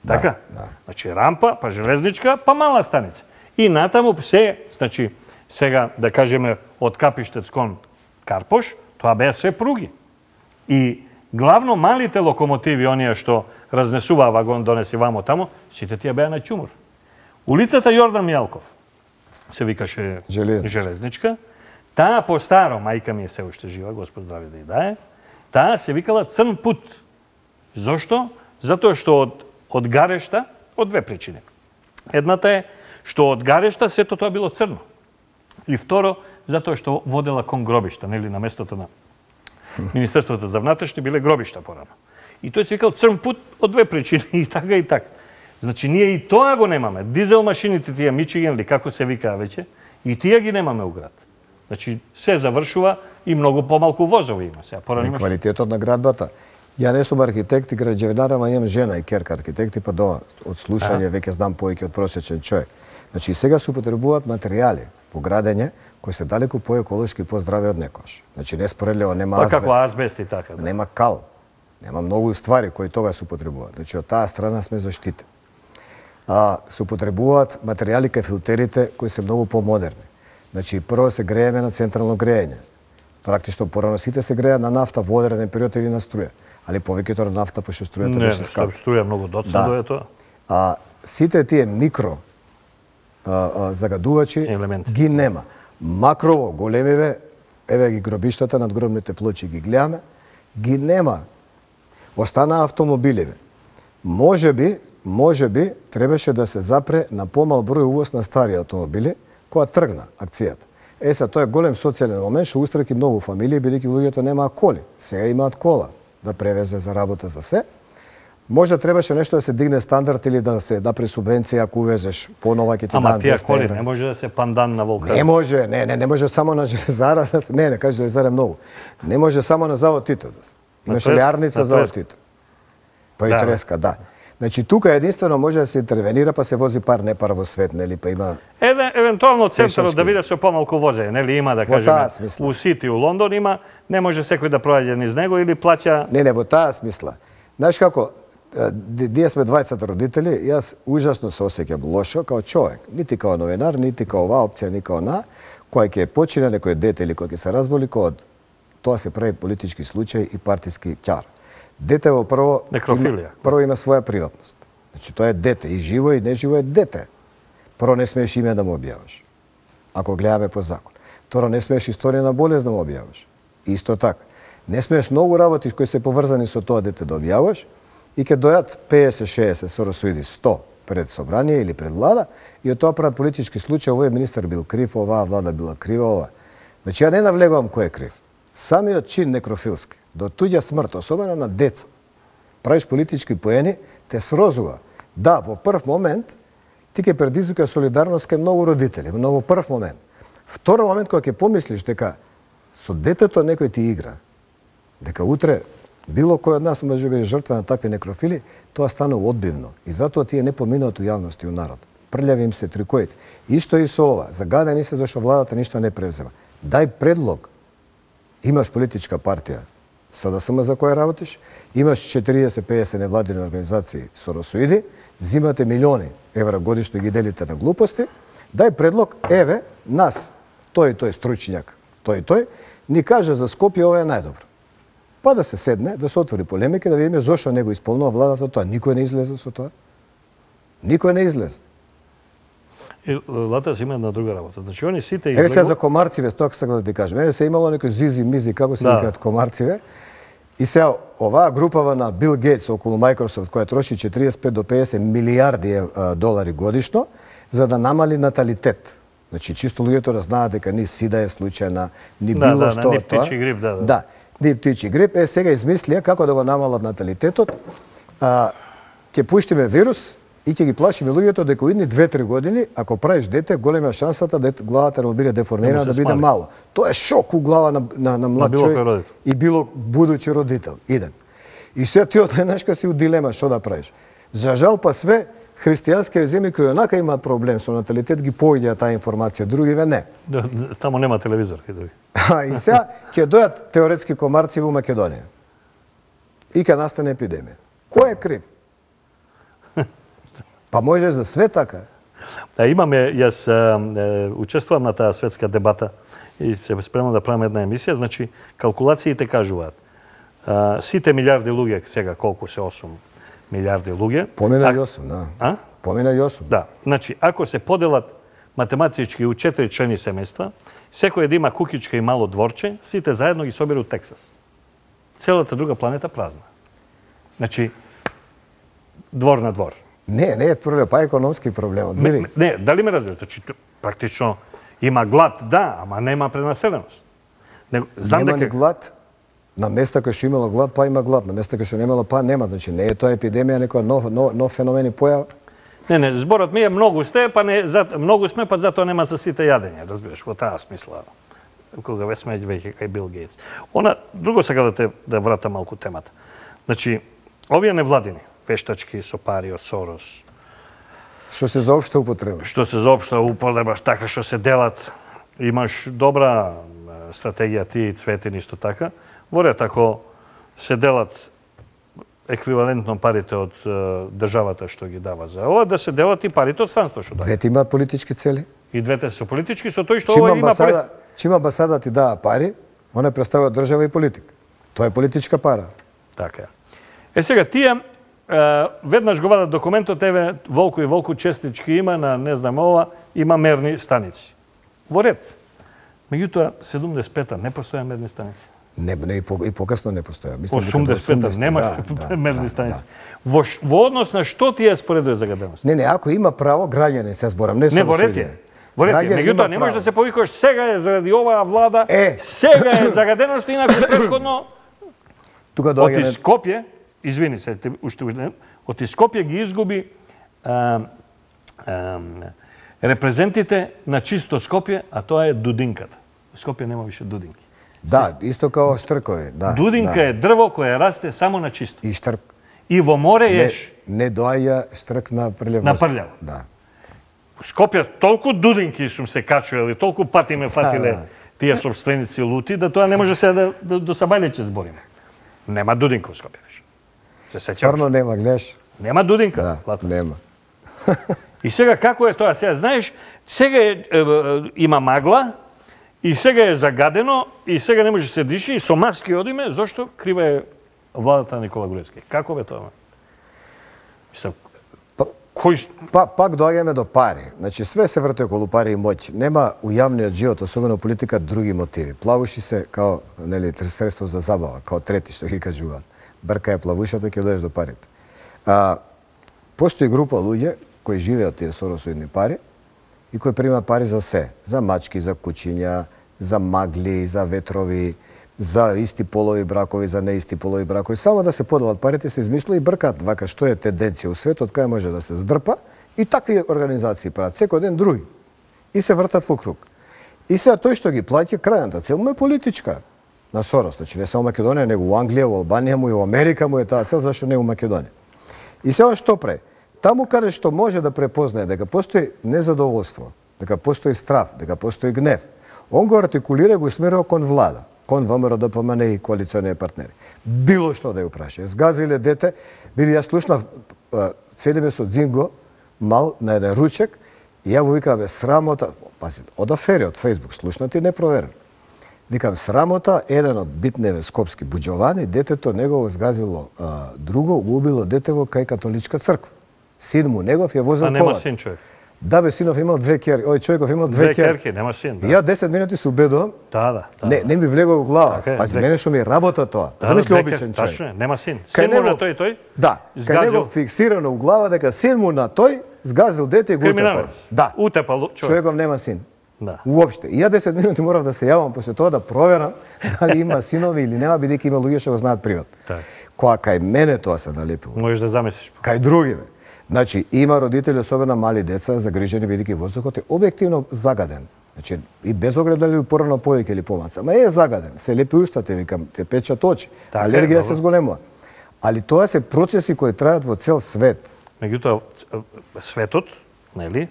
Да, Така? да. Значи рампа, па железничка, па мала станица. И натаму се, значи сега да кажеме од Капиштец кон Карпош, тоа беа све пруги. И главно малите локомотиви, оние што разнесуваа вагон донеси вамо тамо, сите тие беа на ќумур. Улицата Јордан Мијалков се викаше Железничка. железничка. Таа по старо, мајка ми е се уште жива, Господ здраве да ја дае, таа се викала Црн пут. Зошто? Затоа што од, од гарешта, од две причини. Едната е што од гарешта сето тоа било црно. И второ, затоа што водела кон гробишта, нели, на местото на Министерството за внатрешни биле гробишта порано. И тој се викал Црн пут од две причини, и така и така. Значи, ние и тоа го немаме. Дизел машините тие Мичиген, или како се викаа веќе, и тие ги немаме у град. Значи, се завршува и многу помалку возови има. Сега, порано И имаш... квалитетот на градбата. Ја не сум архитект и граđevinar, ама имам жена и керка архитекти, па дома од слушање веќе знам повеќе од просечен човек. Значи, сега се употребуваат материјали по градење кои се далеку поеколошки и поздрави од некош. Значи, неспоредливо нема Па азбест. како азбест и така. Да. Нема кал. Нема многу ствари кои тога се употребуваат. Значи, од таа страна сме заштитени. А, се употребуваат материјали кај филтерите кои се многу помодерни. Значи, прво се грееме на централно греење. Практично порано сите се греа на нафта во одреден период или на струја. Али повеќето на нафта, пошто струјата Не, беше не, скапа. струја многу доцна да. Е тоа. А сите тие микро а, а, загадувачи Елементи. ги нема. Макрово, големиве, еве ги гробиштата, надгробните плочи ги гледаме, ги нема. Останаа автомобиливе. Може би, може би, требаше да се запре на помал број увоз на стари автомобили, која тргна акцијата. Е, са, тоа е голем социјален момент, што устраки многу фамилии, бидејќи луѓето немаа коли. Сега имаат кола да превезе за работа за се. Може требаше нешто да се дигне стандард или да се направи субвенција ако увезеш понова ќе ти Ама дадат тие двесте коли евра. не може да се пандан на Волкар. Не може, не, не, не може само на железара, да се- не, не кажа железара многу. Не може само на завод Тито да се. Имаше Треска, лярница на завод Треска. Тито. Па и Да, треска, да. Значи тука единствено може да се интервенира, па се вози пар не пар во свет, нели, па има Еден, евентуално центарот Пешачки. да биде со помалку возење, нели има да Во таа кажеме смисла. у Сити, у Лондон има, не може секој да проаѓа низ него или плаќа. Не, не, во таа смисла. Знаеш како, е, ди- ние сме дваесет родители, јас ужасно се осеќам лошо као човек, нити као новинар, нити као оваа опција, ни као на, кој ќе почине некој дете или кој ќе се разболи, кој од тоа се прави политички случај и партиски ќар. Дете во прво Некрофилија. Има, прво има своја приватност. Значи тоа е дете, и живо и неживо е дете. Прво не смееш име да му објаваш. ако гледаме по закон. Второ, не смееш историја на болест да му објаваш. Исто така. Не смееш многу работи кои се поврзани со тоа дете да објаваш и ќе дојат песет шеесет соросуиди сто пред собрание или пред влада и од тоа прават политички случаи, овој министар бил крив, оваа влада била крива, ова. Значи ја не навлегувам кој е крив. Самиот чин некрофилски, до туѓа смрт, особено на деца, правиш политички поени, те срозува. Да, во прв момент ти ќе предизвика солидарност кај многу родители, но во прв момент. Втор момент кога ќе помислиш дека со детето некој ти игра, дека утре било кој од нас може да биде жртва на такви некрофили, тоа стана одбивно и затоа тие не поминуваат у јавност и у народ. Прљави им се трикоите. Исто и со ова, загадени се зашто владата ништо не презема. Дај предлог. Имаш политичка партија, СДСМ за која работиш, имаш четириесет пеесет невладини организации соросоиди, зимате милиони евра годишно и ги делите на глупости, дај предлог, еве, нас, тој и тој стручњак, тој и тој, ни каже за Скопје ова е најдобро. Па да се седне, да се отвори полемика, да видиме зошто не го исполнува владата тоа. Никој не излезе со тоа. Никој не излезе. И Латас има една друга работа. Значи, они сите излегу... Еве сега за комарциве, тоа сакам да ти кажем. Еве се имало некој зизи-мизи, како се викаат да. Комарциве. И сега, оваа групава на Бил Гейтс околу Microsoft, која троши четириесет пет до пеесет милиарди долари годишно, за да намали наталитет. Значи, чисто луѓето да знаат дека ни сида е случајна, ни да, било да, што ни птичи грип, да, да. Да, ни птичи грип. Е, сега измислија како да го намалат наталитетот. А, ќе пуштиме вирус и ќе ги плашиме луѓето дека у идни две-три години, ако правиш дете, голема шансата да главата да му биде деформирана, да биде мало. Тоа е шок у глава на, на, на млад човек и било будучи родител. Иден. И сега ти одненашка си у дилема што да правиш. За жал па све, христијански земји кои онака имаат проблем со наталитет ги појдеа таа информација, другиве не. Да, тамо нема телевизор и други. А, и сега ќе дојат теоретски комарци во Македонија. И ќе настане епидемија. Кој е крив? Па може за све така. Да, имаме, јас е, учествувам на таа светска дебата и се спремам да правам една емисија, значи калкулациите кажуваат. А, сите милиарди луѓе, сега колку се осум милиарди луѓе. Помина и осум, да. А? Помина и осум. Да, значи ако се поделат математички у четири члени семејства, секој да има кукичка и мало дворче, сите заедно ги соберу Тексас. Целата друга планета празна. Значи двор на двор. Не, не е проблем, па економски проблем. Не, не, дали ме разбираш? Значи, практично има глад, да, ама нема пренаселеност. Не, знам нема дека... ни глад. На места кај што имало глад, па има глад. На места кај што немало, па нема. Значи, не е тоа епидемија, некоја нов, нов, нов феномен и појава. Не, не, зборот ми е многу сте, па не, за, многу сме, па затоа нема за сите јадење, разбираш, во таа смисла. Кога ве сме веќе кај Бил Гейтс. Она, друго сега да те да вратам малку темата. Значи, овие невладини, вештачки со пари од Сорос. Што се за општа употреба? Што се за општа употреба, така што се делат. Имаш добра стратегија ти и Цветин исто така. Во ред, ако се делат еквивалентно парите од државата што ги дава за ова, да се делат и парите од странство што дава. Двете имаат политички цели. И двете се политички, со тој што ова има пари. Чима амбасада ти дава пари, она представува држава и политика. Тоа е политичка пара. Така е. Е сега тие веднаш го вадат документот, еве Волку и Волку честички има на не знам ова, има мерни станици. Во ред. Меѓутоа седумдесет и пета не постоја мерни станици. Не, не и, по, и покасно не постоја. Мислам осумдесет и пета нема да, мерни да, станици. Да. Во, во однос на што тие споредува загаденост? Не, не, ако има право граѓани се зборам, не со. Не, во ред е. Во ред е. Меѓутоа не можеш да се повикуваш сега е заради оваа влада, е. сега е загаденост, инаку претходно тука доаѓа од Скопје, извини се, уште од Скопје ги изгуби а, а, репрезентите на чисто Скопје, а тоа е дудинката. Скопје нема више дудинки. Да, исто као штркови, да. Дудинка да. е дрво кое расте само на чисто. И штрк. И во море еш. Не, не доаѓа штрк на прљаво. На прљаво. Да. У Скопје толку дудинки сум се качували, толку пати ме фатиле да, да. тие собственици лути, да тоа не може се да, да до Сабајлеќе збориме. Нема дудинка у Скопје више. Се сеќаваш? Стварно нема, гледаш. Нема дудинка. Да, Лато. Нема. И сега како е тоа? Сега знаеш, сега е, е, е, има магла, и сега е загадено, и сега не може да се диши, и со маски одиме, зошто крива е владата на Никола Груевски. Како бе тоа? Мислам, па, кој, па, пак доаѓаме до пари. Значи, све се врти околу пари и моќ. Нема у јавниот живот, особено политика, други мотиви. Плавуши се као, нели, средство за забава, као трети, што ги кажуваат. Брка е плавушата, ќе доеш до парите. А, постои група луѓе кои живеат тие Соросоидни пари и кои примаат пари за се. За мачки, за кучиња, за магли, за ветрови, за исти полови бракови, за неисти полови бракови. Само да се поделат парите, се измислува и бркаат вака што е тенденција у светот, кај може да се здрпа. И такви организации прават секој ден други. И се вртат во круг. И сега тој што ги плаќа, крајната цел му е политичка на Сорос. Значи не само Македонија, него у Англија, у Албанија му и у Америка му е таа цел, зашто не у Македонија. И сега што прави? Таму каде што може да препознае дека постои незадоволство, дека постои страв, дека постои гнев, он го артикулира и го смерува кон влада, кон ВМРО Д П М Н и коалициони партнери. Било што да ја упраша. Згазиле дете, били ја слушнав седиме со Дзинго, мал на еден ручек, и ја му викам, бе, срамота, пази, од афери, од Фейсбук, слушнат и непроверен. Викам, срамота, еден од битневе скопски буџовани, детето негово згазило а, друго, го убило детево кај католичка црква. Син му негов ја возил колата. А нема син човек? Да, бе, синов имал две керки, ој човеков имал две, Две керки. керки, нема син. Да. И ја десет минути се убедувам, Да, да. да не, не ми влегува во глава. Така е, Пази, две- мене што ми работа тоа. Да, Замисли две обичен керки, човек. Тачно е, нема син. Кај Син му на него- тој тој? Да, кај него Згазил- фиксирано у глава дека син му на тој згазил дете и го утепал. Криминалец. Да. Утепал човек. Човеков нема син. Да. Уопште. И ја десет минути морав да се јавам после тоа да проверам дали има синови или нема, бидејќи има луѓе што го знаат приват. Така. Која кај мене тоа се налепило. Можеш да замислиш. Кај други, бе. Значи, има родители, особено мали деца, загрижени бидејќи воздухот е објективно загаден. Значи, и без оглед дали порано повеќе или помаца. Ма е загаден. Се лепи устата, викам, те печат очи. Така е, Алергија добро. се зголемува. Али тоа се процеси кои трајат во цел свет. Меѓутоа, светот, нели,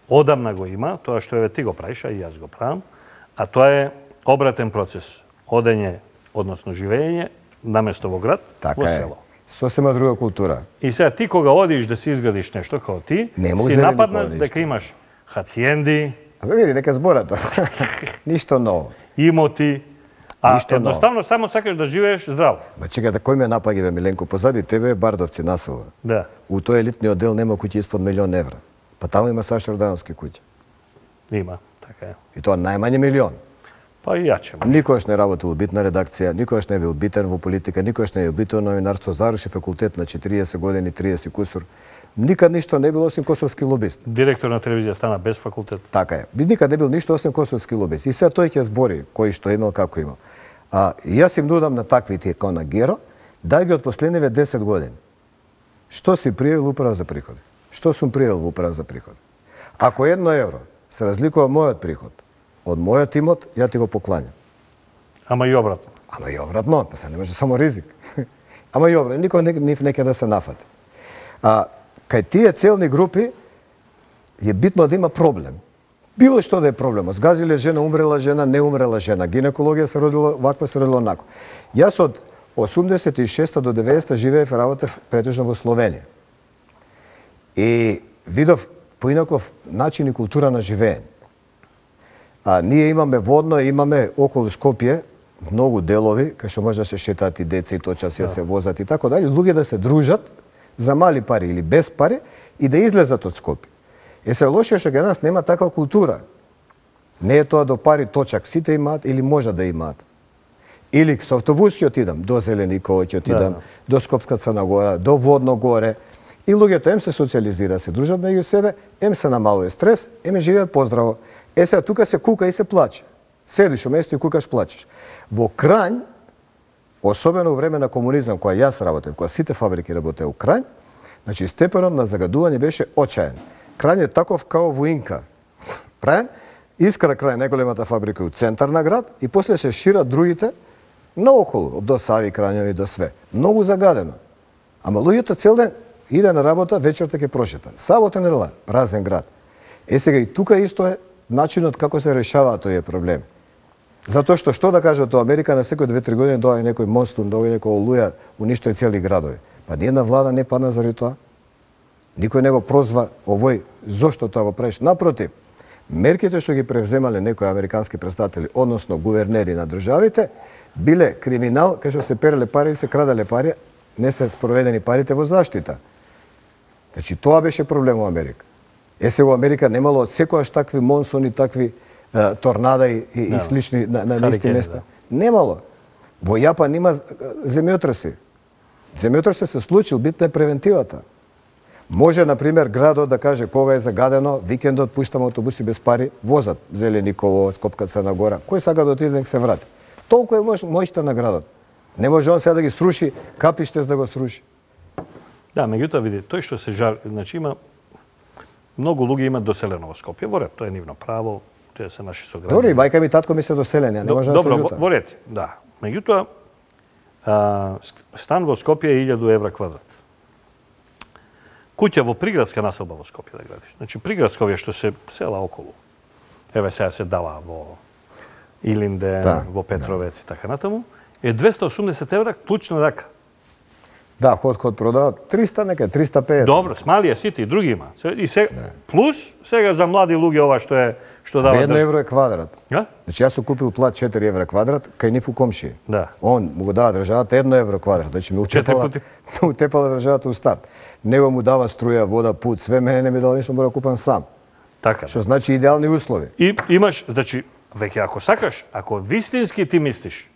одамна го има, тоа што еве ти го правиш, а и јас го правам, а тоа е обратен процес. Одење, односно живење, наместо во град, Така во е. село. Сосема друга култура. И сега ти кога одиш да си изградиш нешто како ти, Нема си зелени нападнат кола дека ништо. имаш хациенди, Абе види, нека збора тоа. Ништо ново. имоти, а Ништо ново. едноставно само сакаш да живееш здраво. Ма чекај, да кој ме напаѓа, бе, Миленко? Позади тебе е Бардовци населба. Да. У тој елитниот дел нема куќи испод милион евра. Па таму има Сашо Ордановски куќи. Има, така е. И тоа најмање милион. Па и јаче. Никогаш не работил битна редакција, никогаш не бил битен во политика, никогаш не е битен новинарство, заврши факултет на четириесет години, триесет кусур. Никад ништо не бил осим косовски лобист. Директор на телевизија стана без факултет. Така е. Би никад не бил ништо осим косовски лобист. И сега тој ќе збори кој што имал, како имал. А јас им нудам на таквите како на Геро, дај ги од последниве десет години. Што си пријавил управа за приходи? Што сум пријавил во управа за приходи? Ако едно евро се разликува мојот приход од мојот имот, ја ти го покланјам. Ама и обратно. Ама и обратно, па се не може само ризик. Ама и обратно, никој не, нив не ќе да се нафати. А кај тие целни групи е битно да има проблем. Било што да е проблем. Згазиле жена, умрела жена, не умрела жена. Гинекологија се родила ваква, се родила онако. Јас од осумдесет и шеста до деветдесета живеев, работев претежно во Словенија. И видов поинаков начин и култура на живење. А ние имаме водно, имаме околу Скопје многу делови кај што може да се шетаат и деца и точаци да се возат и така дали, луѓе да се дружат за мали пари или без пари и да излезат од Скопје. Е се лошо што кај нас нема таква култура. Не е тоа до пари точак сите имаат или може да имаат. Или со автобус ќе отидам до Зелениково, ќе отидам Да. до Скопска Црна Гора, до Водно горе. И луѓето ем се социализира, се дружат меѓу себе, ем се намалува стрес, ем живеат поздраво. Е сега тука се кука и се плаче. Седиш у место и кукаш, плачеш. Во Крањ, особено во време на комунизам, кога јас работев, кога сите фабрики работеа у Крањ, значи степенот на загадување беше очаен. Крањ е таков као во Инка. Правен, искра крај најголемата фабрика у центар на град и после се шират другите наоколу, до Сави, Крањови, до све. Многу загадено. Ама луѓето цел ден иде на работа, вечерта ќе прошета. Сабота недела, празен град. Е сега и тука исто е начинот како се решаваат тој проблем. Затоа што што да кажат тоа, Америка на секој две-три години доаѓа некој монстун, доаѓа некој олуја, уништои цели градови. Па ниедна влада не падна заради тоа. Никој не го прозва овој зошто тоа го правиш. Напротив, мерките што ги превземале некои американски представители, односно гувернери на државите, биле криминал кај што се переле пари и се краделе пари, не се спроведени парите во заштита. Значи тоа беше проблем во Америка. Е се во Америка немало секојаш такви монсуни, такви е, торнада и, и, и слични на, на исти места. Да. Немало. Во Јапан има земјотреси. Земјотресот се случил, битна е превентивата. Може, например, градот да каже кога е загадено, викендот пуштаме автобуси без пари, возат Зелениково, Скопка Црна Гора. Кој сака да отиде нек се врати. Толку е моќ, моќта на градот. Не може он сега да ги сруши, капиште за да го сруши. Да, меѓутоа види, тој што се жали, значи има многу луѓе имаат доселено во Скопје, во ред, тоа е нивно право, тоа се наши сограѓани. Добро, и мајка ми и татко ми се доселени, не може да се Добро, љута. во ред, да. Меѓутоа, а, стан во Скопје е илјаду евра квадрат. Куќа во приградска населба во Скопје да градиш. Значи приградско овие што се села околу. Еве сега се дава во Илинден, да, во Петровец да. И така натаму, е двесте осумдесет евра клучна рака. Да, ход-ход продават триста, нека триста педесет. Добро, смалија сите и други има. И се да. Плюс сега за млади луѓе ова што е што дава. едно евро е квадрат. Ja? Значи јас сум купил плат четири евра квадрат кај нив у комши. Да. Он му го дава државата едно евро квадрат, значи ме утепала, ме утепала државата у старт. Него му дава струја, вода, пут, све, мене не ми дава ништо, мора да купам сам. Така. Што значи идеални услови. И имаш, значи, веќе ако сакаш, ако вистински ти мислиш,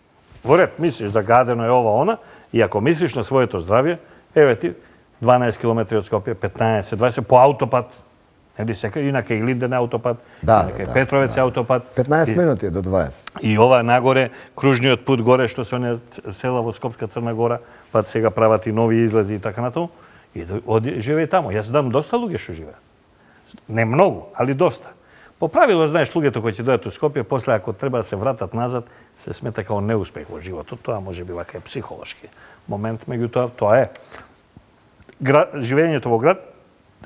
во ред мислиш загадено е ова она, и ако мислиш на своето здравје, еве ти дванаесет километри од Скопје, петнаесет, дваесет по аутопат. Нели сека инака и Линден аутопат, да, инака и да, Петровец да. аутопат. петнаесет и, минути до дваесет. И ова нагоре кружниот пут горе што се оние села во Скопска Црна Гора, па сега прават и нови излези и така натаму. И оди живее таму. Јас знам доста луѓе што живеат. Не многу, али доста. По правило, знаеш, луѓето кои ќе дојдат у Скопје, после ако треба да се вратат назад, се смета како неуспех во животот. Тоа може би вака е психолошки момент, меѓутоа тоа е. Град, живењето во град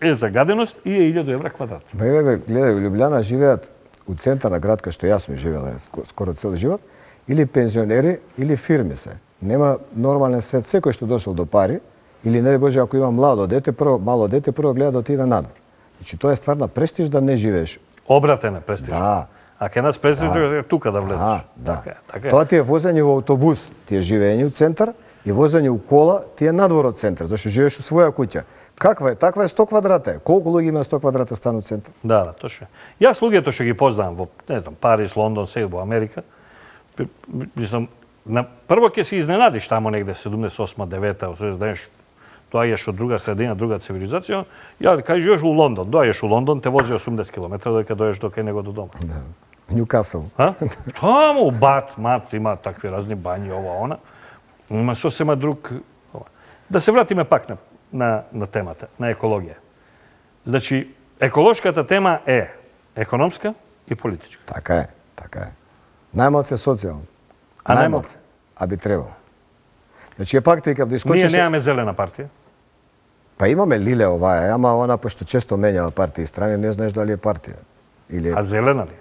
е загаденост и е илјаду евра квадрат. Бе, бе, гледај, у Лјубљана живеат у центар на град, кај што јас сум живеел скоро цел живот, или пензионери, или фирми се. Нема нормален свет. Секој што дошол до пари, или не Боже, ако има младо дете, прво, мало дете, прво гледа да отиде надвор. Значи, тоа е стварна престиж да не живееш. Обратен е престиж. Да. А ке нас престиж да. е тука да влезеш. Да, да. Така, така е. Тоа ти е возење во автобус, ти е живење у центар, и возење у кола, ти е надвор од центар, зашто живееш у своја куќа. Каква е? Таква е сто квадрата. Колку луѓе има сто квадрата стан у центар? Да, да, точно. Јас луѓето што ги познавам во, не знам, Париз, Лондон, сега во Америка, мислам, на прво ќе се изненадиш тамо негде седумдесет и осма, девета, знаеш, доаѓаш од друга средина, друга цивилизација. Ја кај живееш у Лондон, доаѓаш у Лондон, те вози осумдесет километри додека дојдеш до кај него до дома. Да. Њукасл. А? Таму бат, мат, има такви разни бањи, ова, она. Има сосема друг. Ова. Да се вратиме пак на, на, на темата, на екологија. Значи, еколошката тема е економска и политичка. Така е, така е. Најмалце социјално. А најмалце, а би требало. Значи, е пак текав да искочеше... Ние немаме зелена партија. Па имаме Лиле оваа, ама она пошто често менјава партии и страни, не знаеш дали е партија. Или... А зелена ли?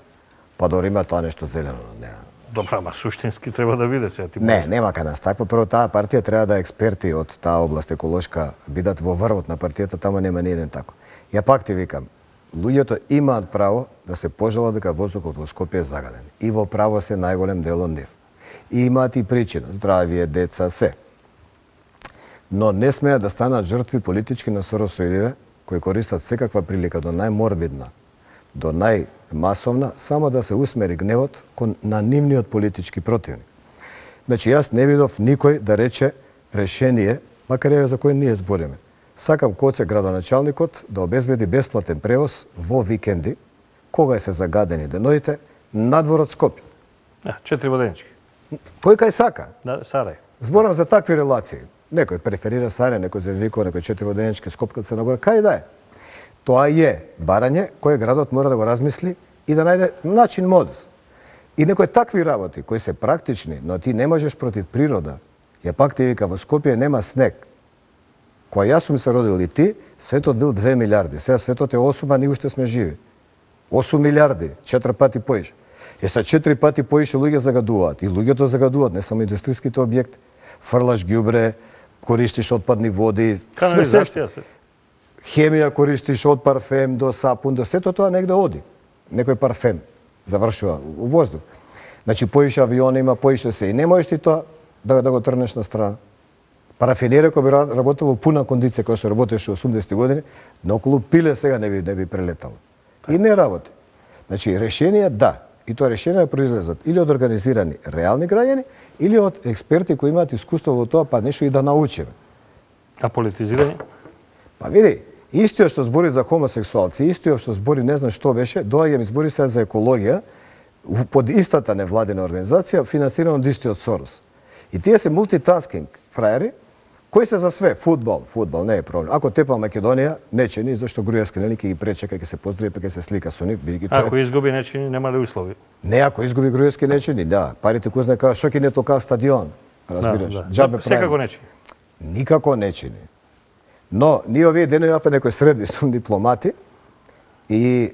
Па дори има тоа нешто зелено, не. Добра, ама суштински треба да биде сега ти. Не, нема кај нас таква. Прво таа партија треба да експерти од таа област еколошка бидат во врвот на партијата, таму нема ни еден тако. Ја пак ти викам, луѓето имаат право да се пожалат дека воздухот во Скопје е загаден. И во право се најголем дел од нив. И имаат и причина, здравје, деца, се. Но не смеат да станат жртви политички насоросоидиве кои користат секаква прилика до најморбидна, до најмасовна, само да се усмери гневот кон на нивниот политички противник. Значи, јас не видов никој да рече решение, макар еве за кој ние збориме. Сакам Коце градоначалникот да обезбеди бесплатен превоз во викенди, кога се загадени деноите, надвор од Скопје. Да, четири воденички. Кој кај сака? Да, Сарај. Зборам за такви релации. Некој преферира Сарај, некој Зелениково, некој четири воденички, Скопка Црна Гора, кај да е. Тоа е барање кој градот мора да го размисли и да најде начин, модус. И некои такви работи кои се практични, но ти не можеш против природа. Ја пак ти вика, во Скопје нема снег. Кога јас сум се родил и ти, светот бил две милиарди. Сега светот е осум, а ние уште сме живи. осум милиарди, четири пати поише. Е са четири пати поише луѓе загадуваат. И луѓето загадуваат, не само индустријските објекти. Фрлаш ѓубре, користиш отпадни води, све се. Хемија користиш од парфем до сапун, до сето тоа негде оди. Некој парфем завршува у воздух. Значи, поише авиони има, поише се. И не можеш ти тоа да, да го трнеш на страна. Парафинерија кој би работело пуна кондиција која што работеше осумдесетти години, но околу пиле сега не би не би прелетало. И не работи. Значи решенија да, и тоа решенија произлезат или од организирани реални граѓани или од експерти кои имаат искуство во тоа, па нешто и да научиме. А политизирање? Па види, истиот што збори за хомосексуалци, истиот што збори не знам што беше, доаѓа ми збори сега за екологија под истата невладина организација финансирана од истиот Сорос. И тие се мултитаскинг фраери кои се за све, фудбал, фудбал не е проблем. Ако тепа Македонија, нечени, зашто Груевски нели ќе ги пречека, ќе се поздрави, па ќе се слика со нив, бидејќи тоа. Ако изгуби нечени, нема ли услови? Не, ако изгуби Груевски нечени, да, парите кој знае како што ќе не толкав стадион, разбираш. Да, да. Џабе Секако нечени. Никако нечени. Но ние овие денови апа некои средби сум дипломати и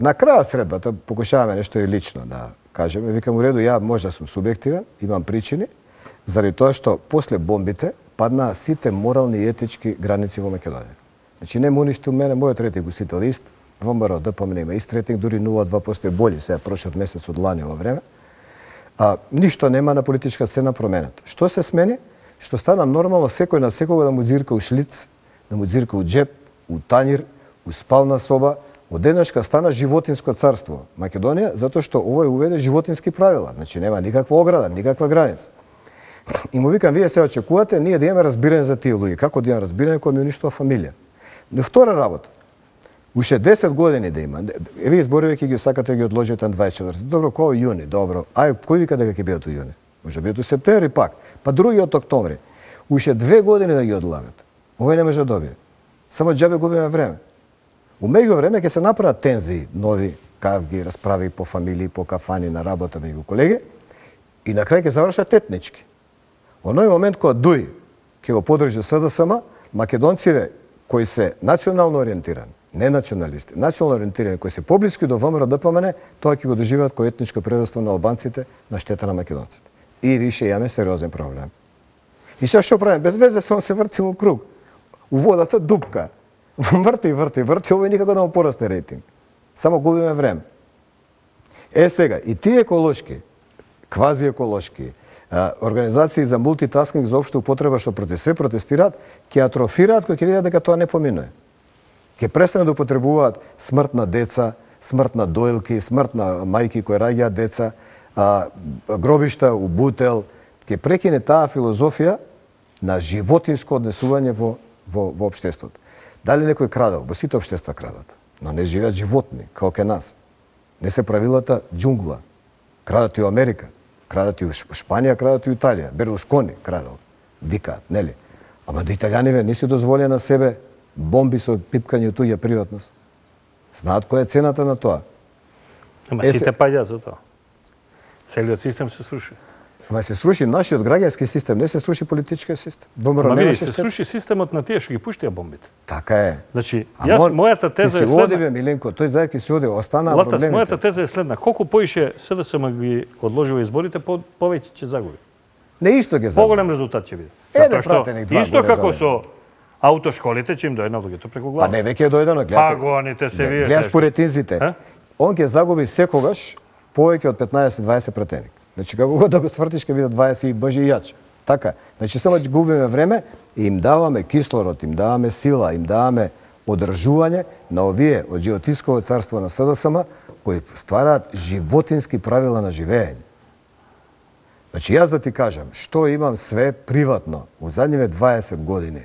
на крајот средбата покушаваме нешто и лично да кажеме. Викам у реду, ја може да сум субјективен, имам причини, заради тоа што после бомбите паднаа сите морални и етички граници во Македонија. Значи не му уништил мене, мојот рейтинг усител ист, во МРО, ДПМН има ист рейтинг, дури нула целу две проценти е болji сега прошот месец од лани ова време. А, ништо нема на политичка сцена променето. Што се смени? Што стана нормално секој на секога да му дзирка у шлиц, да му дзирка у джеп, у танир, у спална соба. Од денешка стана животинско царство Македонија, затоа што овој уведе животински правила. Значи нема никаква ограда, никаква граница. И му викам, вие се очекувате, ние да имаме разбирање за тие луѓе. Како да имаме разбирање кога ми уништува фамилија? Но втора работа. Уште десет години да има. Е, вие зборивајќи ги сакате да ги одложите на дваесет и четврти. Добро, кој јуни? Добро. Ај, кој вика дека ќе бидат у јуни? Може бидат у септември пак. Па другиот октомври. Уште две години да ги одлагат. Овој не може да добие. Само џабе губиме време. У меѓувреме ќе се направат тензии, нови кавги, расправи по фамилии, по кафани на работа меѓу колеги и на крај ќе завршат етнички. Оној момент кога Дуј ќе го подржи СДСМ, македонците кои се национално ориентирани, не националисти, национално ориентирани, кои се поблиски до ВМРО ДПМН, тоа ќе го доживеат кој етничко предавство на албанците на штета на македонците. И више имаме сериозен проблем. И сега што правиме? Без везе само се вртим у круг. У водата дупка. Врти, врти, врти, овој никако да му порасте рейтинг. Само губиме време. Е сега, и тие еколошки, квази еколошки, организации за мултитаскинг за општа употреба што против све протестираат, ќе атрофираат кога ќе видат дека тоа не поминува. Ќе престанат да употребуваат смрт на деца, смрт на доилки, смрт на мајки кои раѓаат деца, а, гробишта у бутел, ќе прекине таа филозофија на животинско однесување во, во, во општеството. Дали некој крадел? Во сите општества крадат, но не живеат животни, како ке нас. Не се правилата џунгла. Крадат и у Америка, крадат и у Шпанија, крадат и у Италија. Берлускони крадал, викаат, нели? Ама да италијаниве не си дозволија на себе бомби со пипкање туѓа приватност. Знаат која е цената на тоа. Ама е, сите паѓаат за тоа. Целиот систем се сруши. Ама се сруши нашиот граѓански систем, не се сруши политичкиот систем. Ама види, се сруши системот на тие што ги пуштија бомбите. Така е. Значи, јас мојата теза е следна. Ти се оди бе, Миленко, тој зајки се оди, останаа Латас, проблемите. мојата теза е следна. Колку поише СДСМ ги одложува изборите, по, повеќе ќе загуби. Не исто ги загуби. Поголем резултат ќе биде. Еден пратеник, два исто горе како доле. со аутошколите, че им дојдено луѓето преку глава. Па не, веќе е дојдено, Па гледате. гоните се вие. Гледаш поретинзите. А? Он ќе загуби секогаш повеќе од петнаесет до дваесет пратеник. Значи, како го да го свртиш, ќе бидат дваесет и боже и јаче. Така. Значи, само ќе губиме време и им даваме кислород, им даваме сила, им даваме одржување на овие од животинското царство на СДСМ, кои ствараат животински правила на живење. Значи, јас да ти кажам, што имам све приватно у задниве дваесет години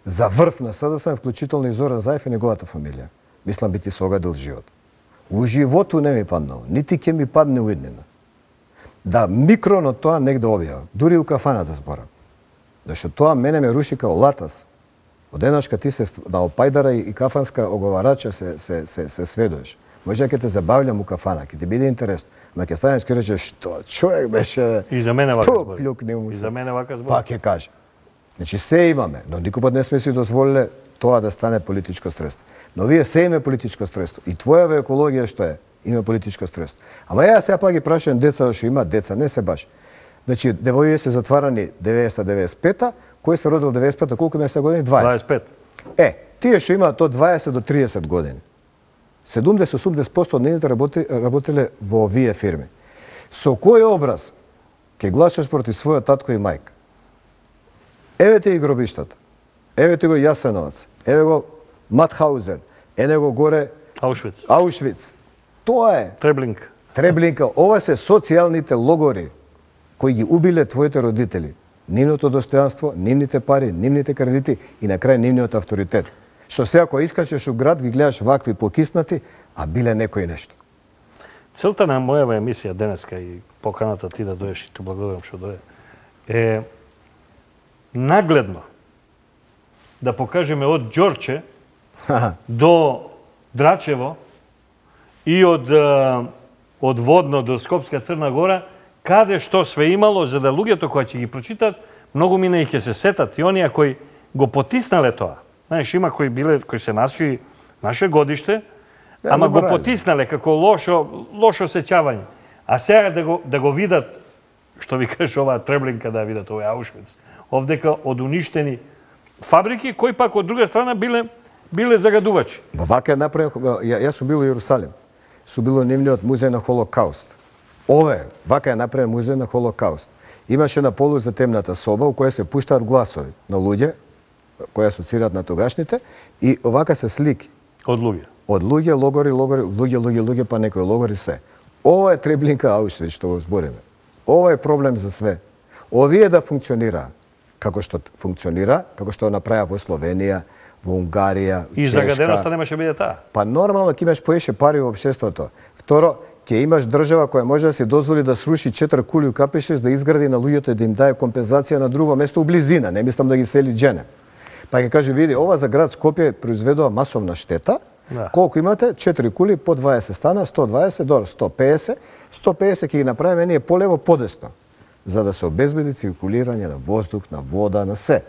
за врв на СДСМ, вклучително и Зоран Заев и неговата фамилија. Мислам би ти се огадил живот. У животу не ми паднало, нити ќе ми падне у иднина. Да микроно тоа негде објава, дури у кафаната зборам. Зашто тоа мене ме руши као латас. Од денашка ти се на опајдара и кафанска оговарача се, се, се, се сведуваш. Може ќе те забавljам у кафана, ќе ти биде интересно. Ма ќе станеш ќе речеш што човек беше. И за мене вака збори. Плюкне му се. И за мене вака збори. Па ќе каже. Значи се имаме, но никој пат не сме си дозволиле тоа да стане политичко средство. Но вие се име политичко средство. И твојава екологија што е? Има политичко средство. Ама ја сега па ги прашувам деца што имаат деца, не се баш. Значи девоје се затварани деветдесета до деветдесет и пета, кој се родил деветдесет и пета, колку имаат сега години? дваесет. дваесет и пет. Е, тие што имаат од дваесет до триесет години. седумдесет до осумдесет проценти од нивните работи, работеле во овие фирми. Со кој образ ќе гласаш против својот татко и мајка? Еве ти и гробиштата. Еве ти го Јасеновац, еве го Матхаузен, еве го горе Аушвиц. Аушвиц. Тоа е Треблинка. Треблинка. Ова се социјалните логори кои ги убиле твоите родители. Нивното достојанство, нивните пари, нивните кредити и на крај нивниот авторитет. Што се ако искачеш у град, ги гледаш вакви покиснати, а биле некој нешто. Целта на мојава емисија денеска и поканата ти да доеш и ти благодарам што дое, е нагледно да покажеме од Ѓорче до Драчево и од, од Водно до Скопска Црна Гора, каде што све имало, за да луѓето кои ќе ги прочитат, многу мина и ќе се сетат и оние кои го потиснале тоа. Знаеш, има кои биле, кои се наши, наше годиште, Да, ама го заборавам. потиснале како лошо, лошо сеќавање. А сега да го, да го видат, што ви кажеш оваа Треблинка, да видат овој Аушвиц, овдека од уништени фабрики, кои пак од друга страна биле, биле загадувачи. Ба вака е направен, ја, јас сум бил во Јерусалим. Сум бил во нивниот музеј на Холокауст. Ове, вака е направен музеј на Холокауст. Имаше на полу за темната соба у која се пуштаат гласови на луѓе, кои асоцираат на тогашните, и овака се слики. Од луѓе. Од луѓе, логори, логори, луѓе, луѓе, луѓе, па некои логори се. Ова е Треблинка Аушвиц што го збориме. Ова е проблем за све. Овие да функционира како што функционира, како што направија во Словенија, во Унгарија, И Чешка. загаденоста немаше биде таа. Па нормално ќе имаш поише пари во општеството. Второ, ќе имаш држава која може да си дозволи да сруши четири кули у Капишес, да изгради на луѓето и да им даде компензација на друго место у близина, не мислам да ги сели Джене. Па ќе каже, види, ова за град Скопје произведува масовна штета. Да. Колку имате? четири кули, по дваесет стана, сто дваесет, до сто пеесет. сто пеесет ќе ги направиме ние полево, подесно, за да се обезбеди циркулирање на воздух, на вода, на се.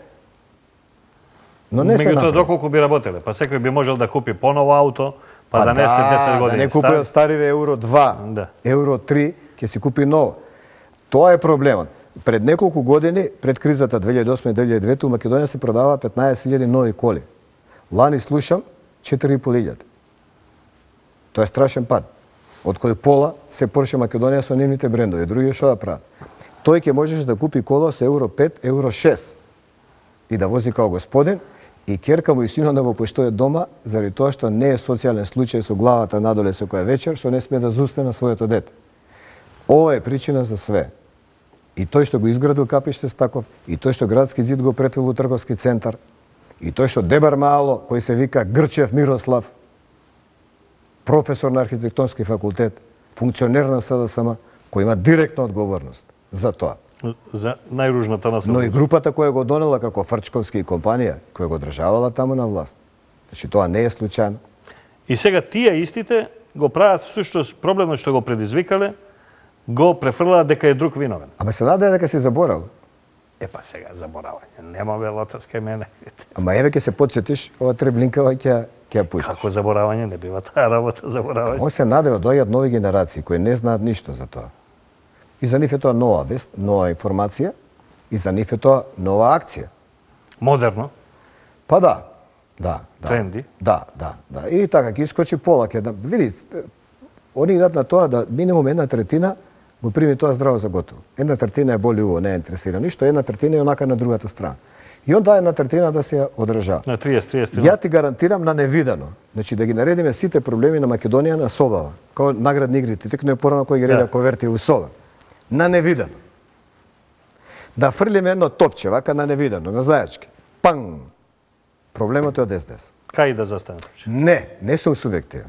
Но не се Меѓутоа, направи. доколку би работеле, па секој би можел да купи поново ауто, па, Па да несе десет да години не купи од стариве Евро два, Да. Евро три, ќе си купи ново. Тоа е проблемот. Пред неколку години, пред кризата две илјади и осма - две илјади и девета, у Македонија се продава петнаесет илјади нови коли. Лани слушам четири и пол илјади. Тоа е страшен пад. Од кој пола се Порше Македонија со нивните брендови, други што да прават. Тој ќе можеш да купи кола со Евро пет, Евро шест и да вози као господин, и ќерка му и синот да го поштојат дома, заради тоа што не е социјален случај со главата надоле секоја вечер, што не сме да зусне на своето дете. Ова е причина за све. И тој што го изградил Капиштес таков, и тој што градски зид го претвил во трговски центар, и тој што Дебар Мало, кој се вика Грчев Мирослав, професор на архитектонски факултет, функционер на С Д С М, кој има директна одговорност за тоа. За најружната наследност. Но и групата која го донела како Фрчковски и компанија, која го државала таму на власт. Значи тоа не е случајно. И сега тие истите го прават всушност проблемот што го предизвикале, го префрлаат дека е друг виновен. Ама се нададе дека си заборал. Епа сега заборавање. Нема велата ска мене. Ама еве ќе се потсетиш, ова Треблинкава ќе ќе ја пуштиш. Како заборавање не бива таа работа заборавање. Он се наде доаѓаат нови генерации кои не знаат ништо за тоа. И за нив е тоа нова вест, нова информација, и за нив е тоа нова акција. Модерно. Па да, да, да. Тренди. Да, да, да. И така ќе искочи пола, ќе да види, они идат на тоа да минимум една третина го прими тоа здраво за готово. Една третина е боли уво, не е интересира ништо, една третина е онака на другата страна. И онда една третина да се ја одржава. На триесет триесет. Ја ти гарантирам на невидано. Значи да ги наредиме сите проблеми на Македонија на собава, као наградни игрите, текно е порано кој ги реда Да. коверти у соба. На невидано. Да фрлиме едно топче, вака на невидано, на зајачки. Панг! Проблемот е од С Д С. Кај да застане топче? Не, не сум субјективен.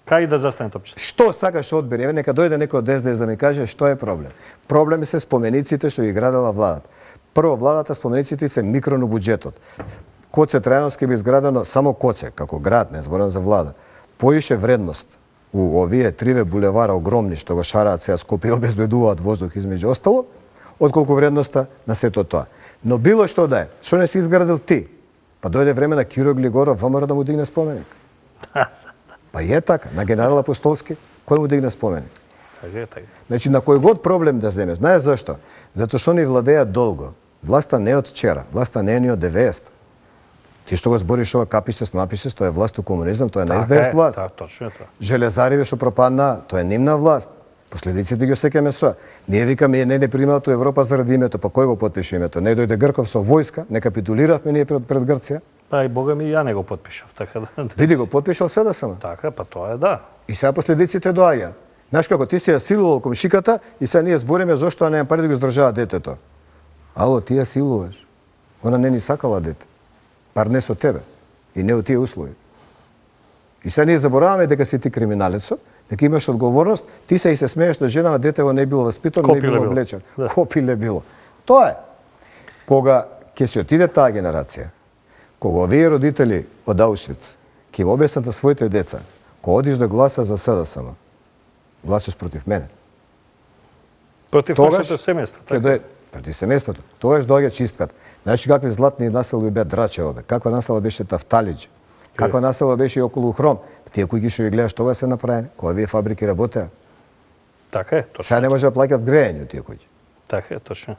Кај да застане топче? Што сакаш одбери? Еве нека дојде некој од С Д С да ми каже што е проблем. Проблеми се спомениците што ги градела владата. Прво, владата спомениците се микро на буџетот. Коце Трајановски би изградено само Коце, како град, не зборам за влада. Поише вредност у овие триве булевара огромни што го шараат сега Скопје и обезбедуваат воздух измеѓу остало, отколку вредноста на сето тоа. Но било што да е, што не си изградил ти? Па дојде време на Киро Глигоров, ВМРО да му дигне споменик. Па е така, на генерал Апостолски, кој му дигне споменик? Така е, така. Значи, на кој год проблем да земе, знаеш зашто? Затоа што ни владеат долго. Власта не е од вчера, власта не е ни од деветдесет. Ти што го збориш ова Капиштес, Мапиштес, тоа е власт у комунизам, тоа е на С Д С власт. Така, точно е тоа. Железариве што пропадна, тоа е нивна власт. Последиците ги осеќаме со. Ние викаме не не примаат Европа заради името, па кој го потпише името? Не дојде Грков со војска, не капитулиравме ние пред, пред Грција. Па и бога ми ја не го потпишав, така да. Види го потпишал се да сама. Така, па тоа е да. И сега последиците доаѓаат. Знаеш како ти си ја силувал комшиката и сега ние збориме зошто не пари да го издржава детето. Ало, ти ја силуваш. Она не ни сакала дете. Бар не со тебе. И не од тие услови. И сега ние забораваме дека си ти криминалецо, дека имаш одговорност, ти се и се смееш да женава детево не било воспитано, не било облечено. Да. Копиле било. Тоа е. Кога ќе се отиде таа генерација, кога овие родители од Аушвиц ќе го објаснат на своите деца, кога одиш да гласа за СДСМ, гласаш против мене. Против нашето семејство. Така. Дое, против семејството. Тогаш доаѓа чистката. Знаеш какви златни населби беа Драчевобе, каква населба беше Тафталиџ, каква населба беше и околу Хром. Тие кои ги што ги гледаш тоа се направени, кога вие фабрики работеа. Така е, точно. Сега не може да плаќат грејање тие кои. Така е, точно.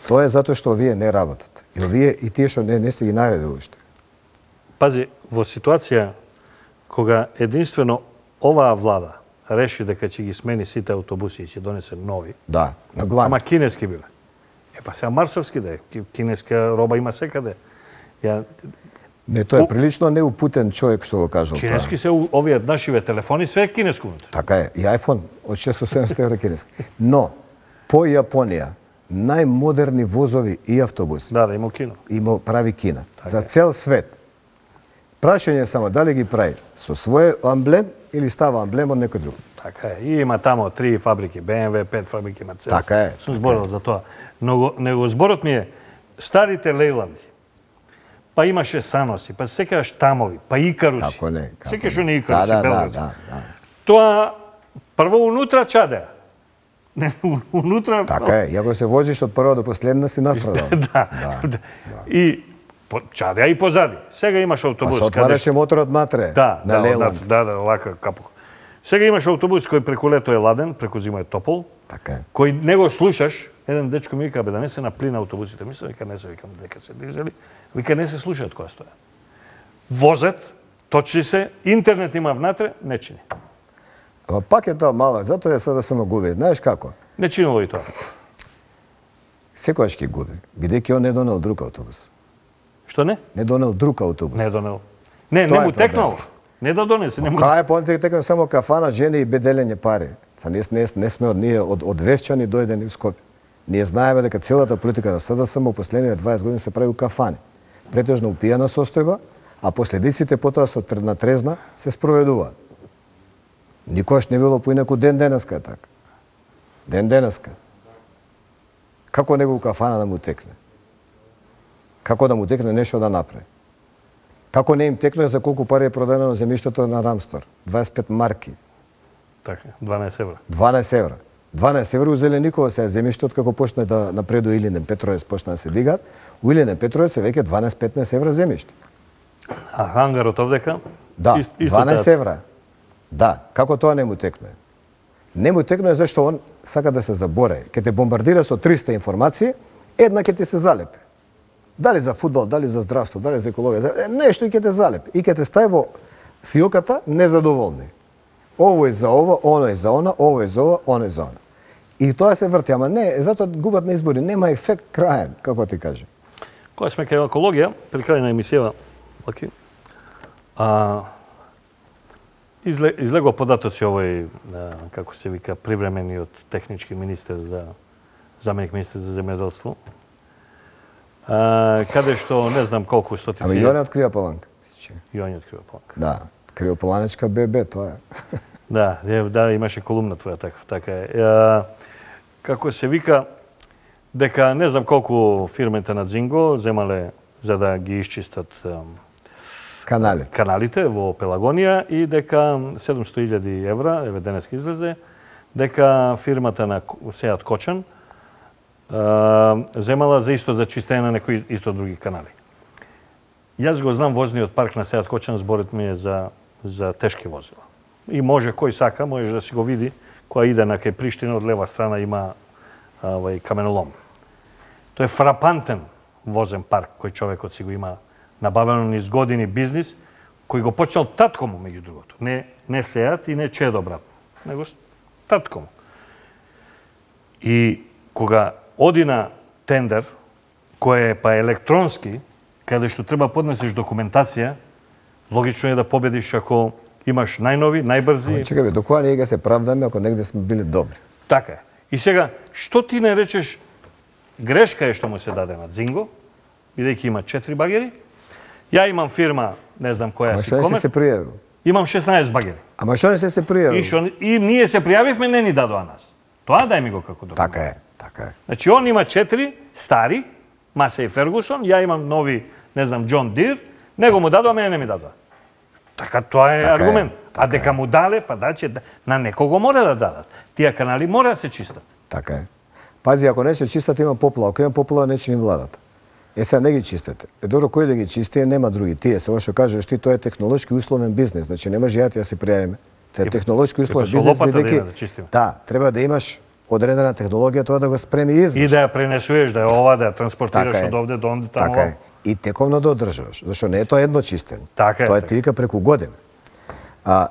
Тоа е затоа што овие не работат. И овие и тие што не не се ги наредили уште. Пази, во ситуација кога единствено оваа влада реши дека ќе ги смени сите автобуси и ќе донесе нови. Да, на гланц. Ама кинески биле. Е па сега марсовски да е. Кинеска роба има секаде. Ја Не, тоа е прилично неупутен човек што го кажал тоа. Кинески се овие нашиве телефони, све е кинеско. Така е, и iPhone од шестоста седумстотини евра кинески. Но, по Јапонија, најмодерни возови и автобуси. Да, да, има кино. Има прави Кина. Така За е. цел свет. Прашање е само дали ги прави со свој амблем или става амблем од некој друг. Така е. И има тамо три фабрики, Б М В, пет фабрики, Мерцедес. Така е. Сум зборил за тоа. Но него зборот ми е старите Лейланди. Па имаше Саноси, па секогаш Тамови, па Икаруси. Како не? Секогаш они Икаруси, да, да, белградски. да, да. Тоа прво унутра чадеа. Не, унутра... Така е, иако се возиш од прва до последна си настрадал. да, да. И по, чадеа и позади. Сега имаш Па автобус. се отвараше моторот натре, да, на да, Лейланд. Да, да, овака капок. Сега имаш автобус кој преку лето е ладен, преку зима е топол. Така е. Кој не го слушаш, еден дечко ми вика, бе, да не се на плин автобусите. Мислам, вика, не се, викам, дека се дизели. Вика, не се слушаат која стоја. Возат, точи се, интернет има внатре, не чини. Ама пак е тоа мало, затоа е сега да се губи. Знаеш како? Не чинило и тоа. Секојаш ќе губи, бидејќи он не донел друг автобус. Што не? Не донел друг автобус. Не донел. Не, Тоа не е му текнало. Не да донесе, не му. Кај е понтек текна само кафана, жени и беделење пари. Са не, не, не сме од ние од од Вевчани дојдени в Скопје. Ние знаеме дека целата политика на СДСМ во последните дваесет години се прави у кафани. Претежно упијана состојба, а последиците потоа со на трезна се спроведуваат. Никош не било поинаку ден денеска така. Ден денеска. Како него у кафана да му текне? Како да му текне нешто да направи? Како не им текне за колку пари е продадено земјиштето на Рамстор? дваесет и пет марки. Така, дванаесет евра. дванаесет евра. дванаесет евра у Зеленикова се земјиштето како почне да напредува Илинден Петровец почна да се дигаат. У Илинден Петровец е веќе дванаесет петнаесет евра земјиште. А хангарот овдека? Да, Ист, исто дванаесет таа. евра. Да, како тоа не му текне? Не му текне зашто он сака да се заборе. Ке те бомбардира со триста информации, една ќе ти се залепи. Дали за фудбал, дали за здравство, дали за екологија, за... нешто и ќе те залепи. И ќе те стави во фиоката незадоволни. Ово е за ова, оно е за она, ово е за ова, оно е за она. И тоа се врти, ама не, затоа губат на избори, нема ефект краен, како ти кажа. Кога сме кај екологија, при крај на емисијава, Лаки, а, изле, излегува податоци овој, а, како се вика, привремениот технички министер за заменик министер за земјоделство, а, каде што не знам колку стотици... Ама и он открива Паланка. И он открива Паланка. Да, Криопаланечка ББ, тоа е. Да, да, имаше колумна твоја така, така е. А, како се вика, дека не знам колку фирмите на Дзинго земале за да ги исчистат Каналите. каналите во Пелагонија и дека седумстотини илјади евра, еве денеска излезе, дека фирмата на Сеат Кочан а, земала за исто за чистење на некои исто други канали. Јас го знам возниот парк на Сеат Кочан, зборот ми е за за тешки возила. И може кој сака, може да си го види, која иде на кај Приштина, од лева страна има овај каменолом. Тоа е фрапантен возен парк кој човекот си го има набавено низ години бизнис, кој го почнал татко му меѓу другото. Не не Сеат и не Чедо брат, него татко му. И кога оди на тендер, кој е па електронски, каде што треба поднесеш документација, логично е да победиш ако имаш најнови, најбрзи. Чекај бе, до која ние ќе се правдаме ако негде сме били добри? Така е. И сега, што ти не речеш, грешка е што му се даде на Дзинго, бидејќи има четири багери. Ја имам фирма, не знам која Ама си што не си комер. се пријавил? Имам шеснаесет багери. Ама што не си се пријавил? И, шо, и ние се пријавивме, не ни дадоа нас. Тоа дај ми го како документ. Така е, така е. Значи, он има четири стари, Масей Фергусон, ја имам нови, не знам, Џон Дир, него му дадоа, мене не ми дадоа. Така, тоа е Така е, аргумент. така А дека му дале, па да, че на некого мора да дадат. Тие канали мора да се чистат. Така е. Пази, ако не ќе чистат, има поплава. Ако има поплава, не ќе ни владат. Е, сега не ги чистете. Е, добро, кој да ги чисти, нема други. Тие, се што кажеш ти, тоа е технолошки условен бизнес. Значи, не може ја ти да се пријавиме. Тоа е технолошки условен со бизнес, лопата да бидејќи има да чистиме. да, треба да имаш одредена технологија тоа да го спреми и изврши. И да ја пренесуеш, да ја ова, да ја транспортираш Така е. од овде до онде, таму. Така е. И тековно да одржуваш, зашто не е тоа едно чистење. Така е, Тоа е така. ти вика преку година. А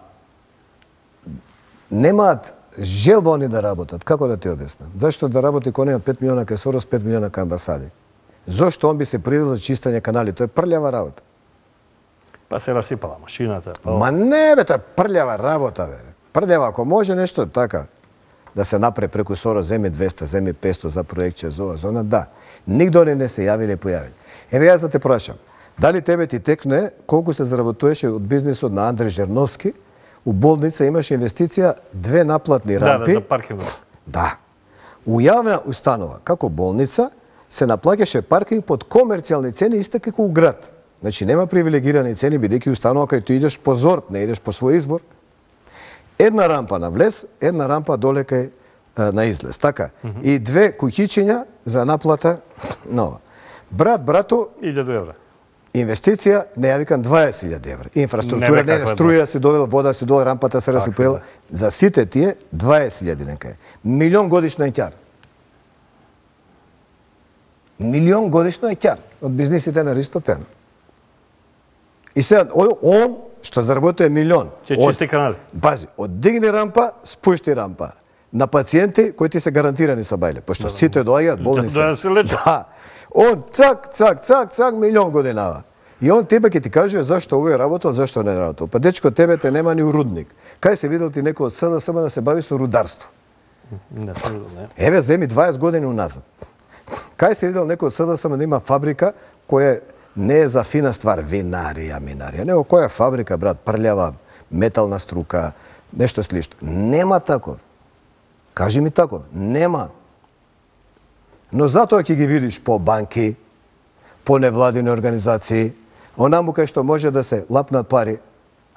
немаат желба они да работат. Како да ти објаснам? Зашто да работи кој нема пет милиона кај Сорос, пет милиона кај амбасади? Зошто он би се привил за чистење канали? Тоа е прљава работа. Па се расипала машината. Па... Ма не бе, тоа е прљава работа бе. Прљава, ако може нешто така да се направи преку Сорос, земи двесте, земи петсто за проекче за ова зона, да. Нигде они не се јавиле и појавиле. Еве јас да те прашам, дали тебе ти текне колку се заработуваше од бизнисот на Андреј Жерновски? У болница имаше инвестиција две наплатни рампи. Да, да, за паркингот. Да. У јавна установа, како болница, се наплаќаше паркинг под комерцијални цени исто како у град. Значи нема привилегирани цени, бидејќи установа кај ти идеш по зорт, не идеш по свој избор. Една рампа на влез, една рампа доле кај а, на излез, така? Mm -hmm. И две куќичиња за наплата нова. Брат, брато, илјаду евра. инвестиција, не ја викам дваесет илјади евра. Инфраструктура, Не, бе, не, не, каква е струја си довела, вода си довела, рампата се Така, расипела. да. За сите тие дваесет илјади нека е. Милион годишно е ќар. Милион годишно е ќар од бизнисите на Ристо Пено. И сега, он, што заработува милион. Ќе од- чисти канали. Пази, оддигни рампа, спушти рампа. На пациенти кои ти се гарантирани са бајле, пошто сите доаѓаат болница. Да, да се лечат. Да. Он цак, цак, цак, цак, милион годинава. И он тебе ќе ти каже зашто овој работел, зашто не работел. Па дечко, тебе те нема ни у рудник. Кај се видел ти некој од СДСМ да се бави со рударство? Не, тоа не. Еве, земи дваесет години уназад. Кај се видел некој од СДСМ да има фабрика која не е за фина ствар, винарија, минарија, него која фабрика, брат, прљава, метална струка, нешто слично. Нема таков. Кажи ми таков. Нема. Но затоа ќе ги видиш по банки, по невладини организации, онаму кај што може да се лапнат пари,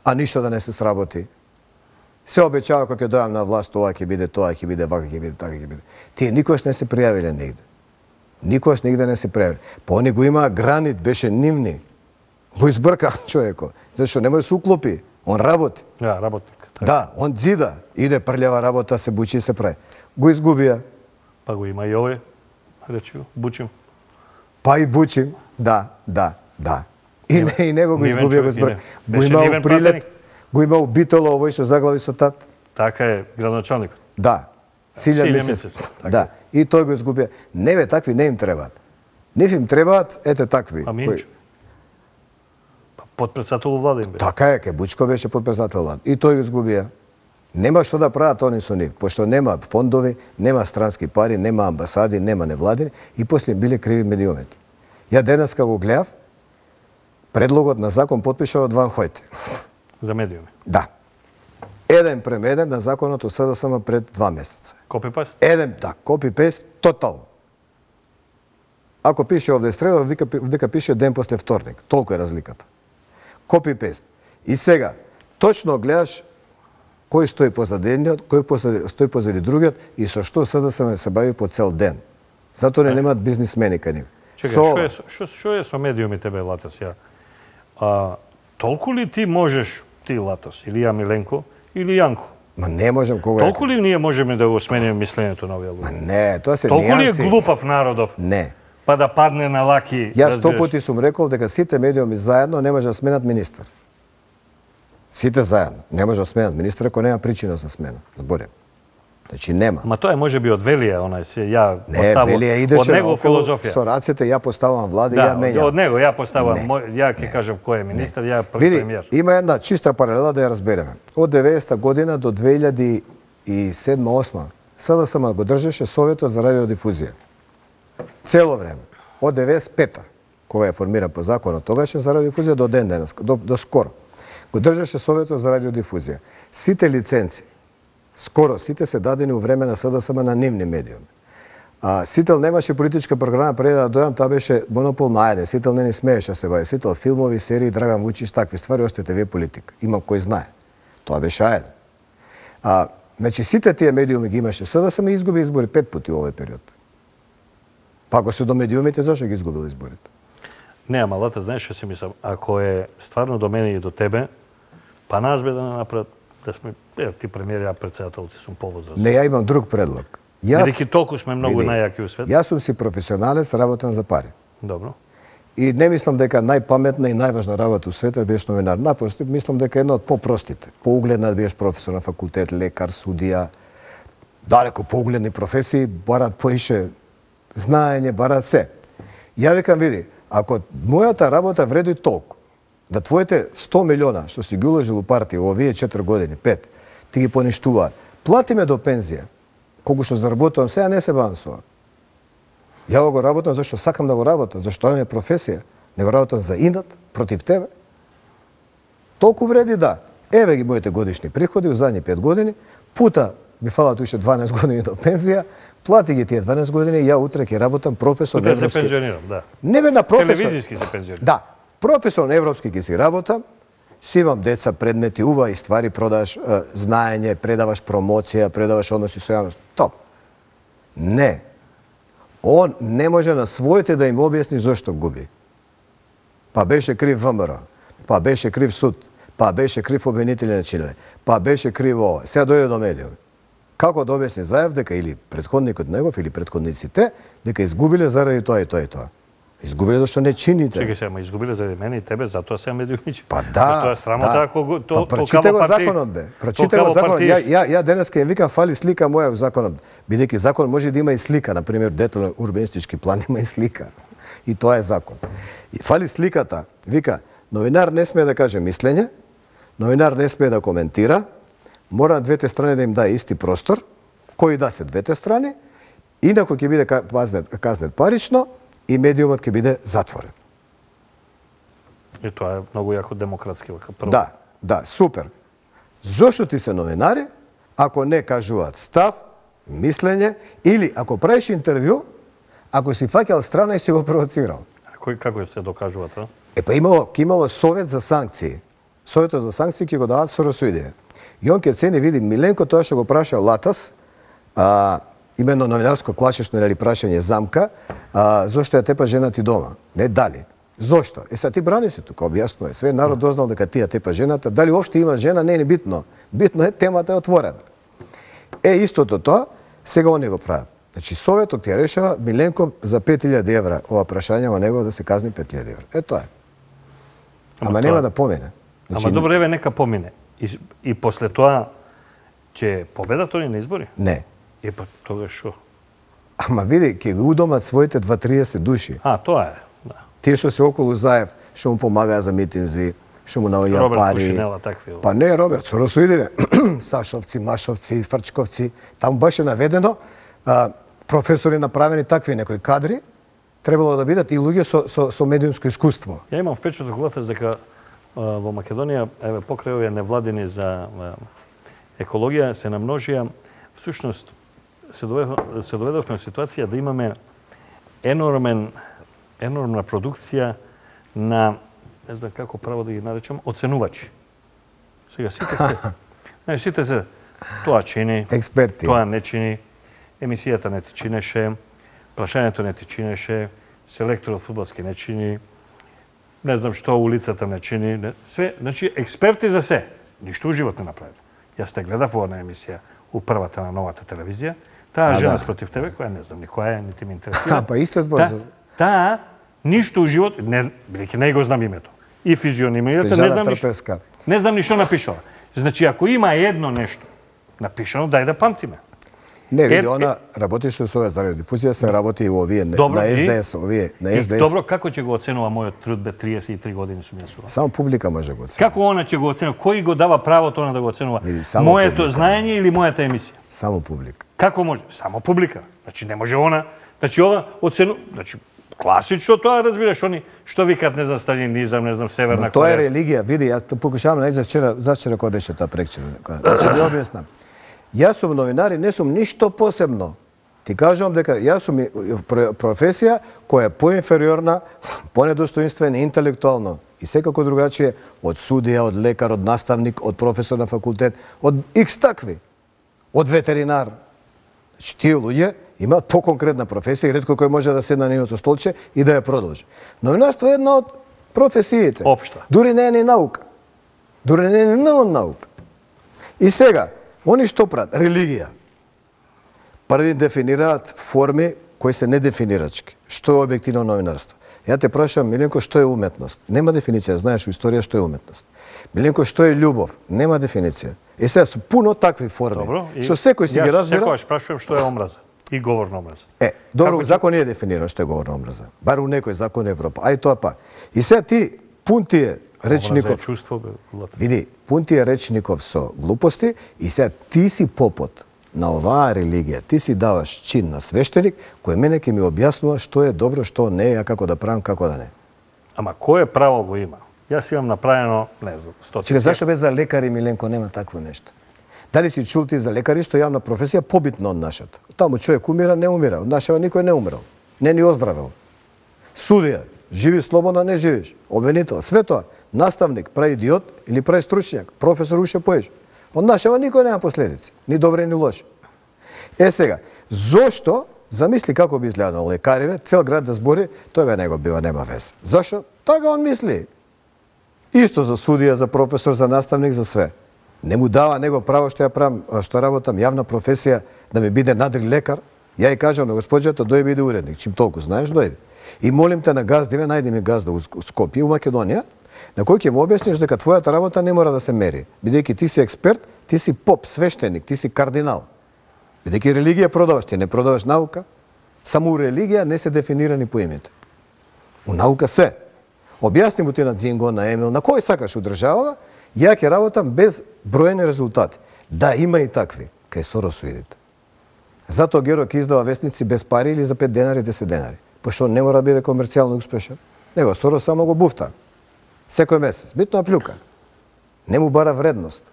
а ништо да не се сработи. Се обеќава кога ќе дојам на власт, ова ќе биде, тоа ќе биде, вака ќе биде, така ќе биде. Тие никош не се пријавиле негде. Никош нигде не се пријавиле. Па они го има гранит, беше нивни. Го избрка човеко. Зашто не може да се уклопи. Он работи. Да, работник. Така. Да, он дзида. Иде прљава работа, се бучи и се прави. Го изгубија. Па го има и овој, речи го, Бучим. Па и бучим. Да, да, да. И, Нивен- не, и него го нивен изгубија, го човек, избрка. нивен. Го Беше има нивен у прилеп, пратеник. го има у битоло овој што заглави со тат. Така е, градоначалник. Да. Силјан Силјан Мисец. Мисец, така Да. И тој го изгубија. Не бе, такви не им требаат. Нив им требаат, ете такви. А кои- Минчо? Па подпредседател у влада им бе. Така е, ке Бучко беше подпредседател влад. И тој го изгубија. Нема што да прават они со нив, пошто нема фондови, нема странски пари, нема амбасади, нема невладини и после им биле криви медиумите. Ја денеска го гледав, предлогот на закон потпишал од Ван Хојте. За медиуми. Да. Еден прем еден на законот од СДСМ пред два месеца. Копи-паст? Еден, да, копи-пест, тотално. Ако пише овде среда, вдека, вдека пише ден после вторник. Толку е разликата. Копи-пест. И сега, точно гледаш кој стои позади едниот, кој позади, стои позади другиот и со што СДСМ се бави по цел ден. Затоа не немаат бизнисмени кај нив. Чекај, Со- што е, со- што, што е со медиумите, бе, Латас, ја? А, толку ли ти можеш, ти, Латас, или ја, Миленко, или Јанко? Ма не можам кога... Толку ли ние можеме да го смениме мислењето на овие Ма луѓе? не, тоа се Толку ли е нијанси. глупав народов, Не. па да падне на лаки? Јас сто разбираш? пати сум рекол дека сите медиуми заедно не може да сменат министар. Сите заедно не може да сменат министар ако нема причина за смена. Зборим. Значи нема. Ма тоа е можеби од Велија, онај се ја Не, поставам Велија од идеше него околу филозофија. со рацете, ја поставам влада и Да, ја менјам. од него ја поставам, Не. мој- ја ќе кажам кој е министар, ја Види, премиер. има една чиста паралела да ја разбереме. Од деветдесета година до две илјади и седма осма СДСМ го држеше Советот за радиодифузија. Цело време. Од деветдесет и пета, кога е формиран по законот тогаш за радиодифузија до ден денес, до, до скоро. Го држеше Советот за радиодифузија. Сите лиценци, скоро сите се дадени у време на СДСМ на нивни медиуми. А, Сител немаше политичка програма пред да дојам, таа беше монопол на ајде. Сител не ни смееше се бави. Сител филмови, серии, Драган Вучич, такви ствари, осте те ве политика. Има кој знае. Тоа беше ајде. А, значи сите тие медиуми ги имаше СДСМ и изгуби избори пет пати во овој период. Па ако се до медиумите, зашто ги изгубил изборите? Не, ама Лата, знаеш што си мислам? Ако е стварно до мене и до тебе, па нас бе да направат, да сме, е, ти премиер, ја председател, ти сум повозрастен. Не, ја имам друг предлог. Јас, Бидејќи толку сме многу види, најаки у свет. Јас сум си професионалец, работам за пари. Добро. И не мислам дека најпаметна и најважна работа у светот е да биеш новинар. Напротив, мислам дека една од по-простите. Поугледна да биеш професор на факултет, лекар, судија, далеко поугледни професии, барат поише знаење, барат се. Ја викам, види, ако мојата работа вреди толку, да твоите сто милиона што си ги уложил у партија во овие четири години, пет, ти ги поништуваат, плати ме до пензија, колку што заработувам сега, не се бавам со ова. Ја го работам зашто сакам да го работам, зашто тоа ми е професија. Не го работам за инат, против тебе. Толку вреди да. Еве ги моите годишни приходи у задни пет години, пута ми фалат уште дванаесет години до пензија, плати ги тие дванаесет години и ја утре ќе работам професор Кога се европски. пензионирам, да. Не бе на професор. Телевизиски се пензионирам. Да, професор на европски ќе си работам, си имам деца, предмети, убави ствари, продаваш е, знаење, предаваш промоција, предаваш односи со јавност. Топ. Не. Он не може на своите да им објасни зошто губи. Па беше крив ВМРО, па беше крив суд, па беше крив обвинители на Чиле, па беше крив ова. Сега дојде до медиуми. Како да објасни Заев дека или претходникот негов или претходниците дека изгубиле заради тоа и тоа и тоа. Изгубиле зашто не чините. Чекај се, ама изгубиле заради мене и тебе, затоа се медиумичи. Па да, Тоа е срамота да. ако го то па, прочите го законот бе. Прочите го законот. Ја, ја, ја денеска им викам фали слика моја во законот. Бидејќи закон може да има и слика, на пример детален урбанистички план има и слика. И тоа е закон. И фали сликата. Вика, новинар не смее да каже мислење, новинар не смее да коментира, мора на двете страни да им даде исти простор, кои да се двете страни, инаку ќе биде казнет, казнет парично и медиумот ќе биде затворен. И тоа е многу јако демократски вака прво. Да, да, супер. Зошто ти се новинари, ако не кажуваат став, мислење, или ако правиш интервју, ако си фаќал страна и си го провоцирал. Кој како се докажува тоа? Е па имало, ке имало совет за санкции. Советот за санкции ќе го дават со расуидија. И он ке цени, види, Миленко тоа што го праша Латас, а, именно новинарско класично или прашање замка, а, зошто ја тепа жена ти дома? Не дали. Зошто? Е са ти брани се тука, објаснува. Све народ дознал дека ти ја тепа жената, дали уопште има жена, не е ни битно. Битно е темата е отворена. Е истото тоа, сега они го прават. Значи советот ти ја решава Миленко за пет илјади евра ова прашање во него да се казни пет илјади евра. Е тоа е. Ама, Ама нема да помине. Значи, ама добро, еве нека помине. И, и после тоа ќе победат они на избори? Не. И па тогаш шо? Ама види, ќе ги удомат своите дваесет до триесет души. А, тоа е, да. Тие што се околу Заев, што му помагаа за митинзи, што му наоѓаат Роберт пари. Кушинела, такви. Па не, Роберт, со расуидиве. Сашовци, Машовци, Фрчковци. Таму беше наведено а, професори направени такви некои кадри, требало да бидат и луѓе со, со, со медиумско искуство. Ја имам впечаток дека а, во Македонија, еве покрај овие невладини за а, екологија се намножија, всушност се доведовме, се доведовме во ситуација да имаме енормен енормна продукција на, не знам како право да ги наречам, оценувачи. Сега сите се, не, сите се, тоа чини, Експерти. тоа не чини, емисијата не ти чинеше, прашањето не ти чинеше, селекторот фудбалски не чини, не знам што улицата не чини, не, све, значи експерти за се, ништо уживот не направи. Јас те гледав во една емисија у првата на новата телевизија, таа А, жена да. спротив тебе, која не знам ни која е, нити ме интересира. А, па исто збор. Та, таа ништо у живот, не, бидејќи не го знам името. И физионимијата, не Снежана знам ништо. Трпевска. Не знам ни што напишала. Значи, ако има едно нешто напишано, дај да памтиме. Не, види, она работеше со овие за радиодифузија, се работи и овие Добро, на и- Ес Де Ес, овие на Ес Де Ес. Добро, како ќе го оценува мојот труд, бе, триесет и три години сум јас ова? Само публика може го оцени. Како она ќе го оценува? Кој го дава правото на да го оценува? Види, само Моето публика. знаење или мојата емисија? Само публика. Како може? Само публика. Значи не може она, значи ова оцену, значи класично тоа разбираш они што викат не знам сталинизам, не знам Северна Но тоа е Кореја. религија, види, ја то покушавам најзад вчера, зачера кога беше таа прекчера. Значи да објаснам. Јас сум новинар и не сум ништо посебно. Ти кажувам дека јас сум и- про- професија која е поинфериорна, понедостоинствена интелектуално и секако другачие од судија, од лекар, од наставник, од професор на факултет, од икс такви, од ветеринар. Значи тие луѓе имаат поконкретна професија и ретко кој може да седне на нивото столче и да ја продолжи. Новинарство е една од професиите. Општа. Дури не е ни наука. Дури не е ни наука. И сега, они што прават? Религија. Први дефинираат форми кои се недефинирачки. Што е објективно новинарство? Ја те прашам, Миленко, што е уметност? Нема дефиниција, знаеш у историја што е уметност. Миленко, што е љубов? Нема дефиниција. И сега су пуно такви форми. Добро. и Што секој си ги јас разбира. Секогаш прашувам што е омраза и говорна омраза. Е, добро, Како ќе- закон не е дефиниран што е говорна омраза. Бар у некој закон Европа. Ај тоа па. И сега ти пун ти е Омраза е речников. чувство, бе, Лата. Види, пун ти е речников со глупости и сега ти си попот на оваа религија. Ти си даваш чин на свештеник кој мене ќе ми објаснува што е добро, што не е, а како да правам, како да не. Ама кое право го има? Јас имам направено, не знам, стотици. Чека, зашто без за лекари, Миленко, нема такво нешто? Дали си чул ти за лекари што јавна професија побитна од нашата? Таму човек умира, не умира. Од нашава никој не умрел. Не ни оздравел. Судија, живи слободно, не живиш. Обвинител, све тоа. Наставник, прави идиот или прави стручњак. Професор уште поеш. Од нашава никој нема последици. Ни добри, ни лоши. Е сега, зошто, замисли како би изгледано лекариве, цел град да збори, тој бе него бива, нема вез. Зашо? Така он мисли. Исто за судија, за професор, за наставник, за све. Не му дава него право што ја правам, што работам јавна професија да ми биде надри лекар. Ја и кажам на господјата дој биде уредник, чим толку знаеш дојде. И молим те на газдиве, најди ми газда у Скопје, у Македонија, на кој ќе му објасниш дека твојата работа не мора да се мери, бидејќи ти си експерт, ти си поп, свештеник, ти си кардинал. Бидејќи религија продаваш, ти не продаваш наука, само у религија не се дефинирани поимите. У наука се. Објасни му ти на Дзинго, на Емил, на кој сакаш у држава, ја ќе работам без броени резултати. Да, има и такви. Кај Сорос видите. Затоа Геро ќе издава вестници без пари или за пет денари, десет денари. Пошто не мора да биде комерцијално успешен. Него Сорос само го буфта. Секој месец. Битно плюка. Не му бара вредност.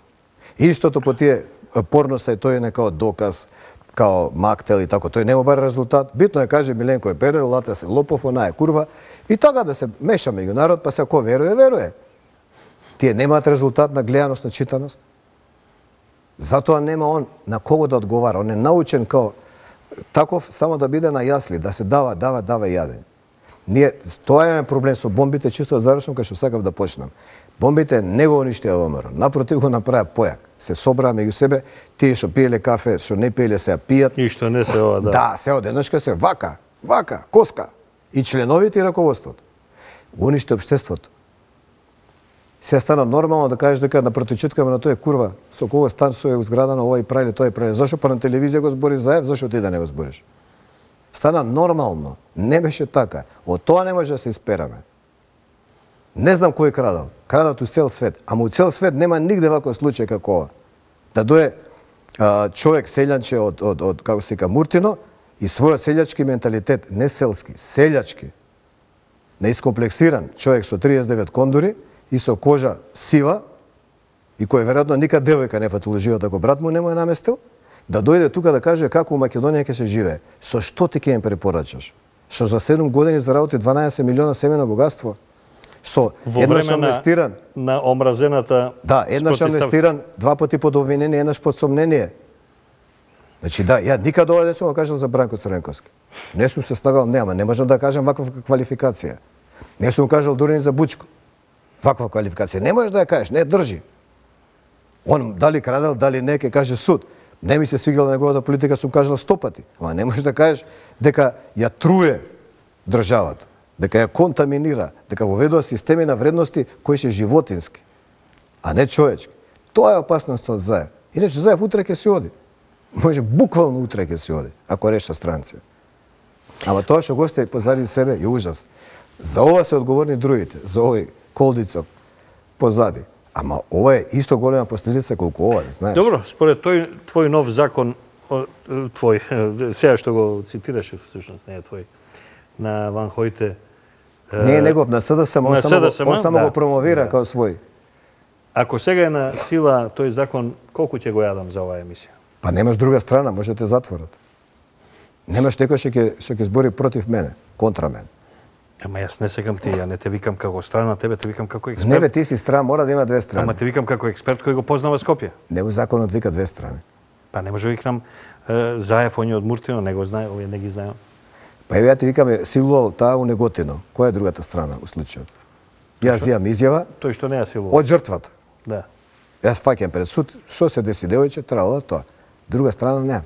Истото по тие порноса и тој е некао доказ, као мактел и тако. Тој не му бара резултат. Битно е каже Миленко е перер, Лата се лопов, она е курва. И така да се меша меѓу народ, па се ако веруе, веруе. Тие немаат резултат на гледаност, на читаност. Затоа нема он на кого да одговара. Он е научен као таков само да биде на јасли, да се дава, дава, дава и јадење. Ние, тоа е проблем со бомбите, чисто завршам кај што сакав да почнам. Бомбите не го уништија ВМРО. Напротив го направија појак. Се собраа меѓу себе, тие што пиеле кафе, што не пиеле се ја пијат. И што не се ова, да. Да, се одеднашка се вака, вака, коска. И членовите и раководството. Уништи општеството. Се стана нормално да кажеш дека на протичеткаме на тој курва, со кого стан со е зградано, ова и правиле, тоа и правиле. Зашо па на телевизија го збори заев, зашо ти да не го збориш? Стана нормално. Не беше така. Од тоа не може да се испераме. Не знам кој крадал. Крадат у цел свет. Ама у цел свет нема нигде ваков случај како ова. Да дое а, човек селјанче од, од, од, како се ка, Муртино и својот селјачки менталитет, не селски, селјачки, неискомплексиран човек со триесет и девет кондури и со кожа сива, и кој веројатно никад девојка не фатил живот ако брат му не му е наместил, да дојде тука да каже како у Македонија ќе се живее. Со што ти ќе им препорачаш? Што за седум години заработи дванаесет милиона семено богатство? Со Во еднаш време на, амнестиран, на омразената... да, еднаш спротистав- амнестиран, два пати под обвинение, еднаш под сомнение. Значи да, ја никад ова не сум го кажал за Бранко Црвенковски. Не сум се стагал, нема, не можам да кажам ваква квалификација. Не сум кажал дури ни за Бучко. Ваква квалификација. Не можеш да ја кажеш, не држи. Он дали крадел, дали не, ке каже суд. Не ми се свигала неговата политика, сум кажал сто пати. Ама не можеш да кажеш дека ја труе државата, дека ја контаминира, дека воведува системи на вредности кои се животински, а не човечки. Тоа е опасноста од Заев. Иначе Заев утре ќе си оди. Може буквално утре ќе си оди, ако решта странци. Ама тоа што го сте позади себе е ужас. За ова се одговорни другите, за овој колдицок позади. Ама ова е исто голема последица колку ова, знаеш. Добро, според тој твој нов закон, твој, сега што го цитираше всушност, не е твој, на Ван Хојте. Не е негов, на СДСМ, он само, го, он само да, го промовира да. као свој. Ако сега е на сила тој закон, колку ќе го јадам за оваа емисија? Па немаш друга страна, може да те затворат. Немаш некој што ќе што ќе збори против мене, контра мене. Ама јас не секам ти, ја не те викам како страна, тебе те викам како експерт. Не бе, ти си страна, мора да има две страни. Ама те викам како експерт кој го познава Скопје. Него законот вика две страни. Па не може да викнам е, Заев, он е од Муртино, не го знае, овие не ги знаеме. Па еве ја ти викаме силувал таа у Неготино. Која е другата страна у случајот? Јас имам изјава Тој што не ја силува. од жртвата. Да. Јас фаќам пред суд, што се деси девојче, трала тоа. Друга страна нема.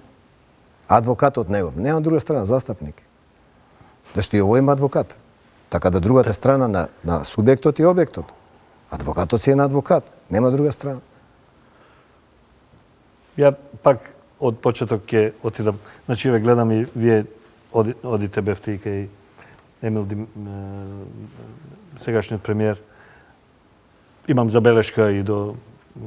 Адвокатот негов, нема друга страна, застапник. Зашто и овој има адвокат. Така да другата страна на, на субјектот и објектот. Адвокатот си е на адвокат, нема друга страна. Ја пак од почеток ќе отидам, значи ве гледам и вие оди, одите бевте и кај Емил Дим, е, сегашниот премиер. Имам забелешка и до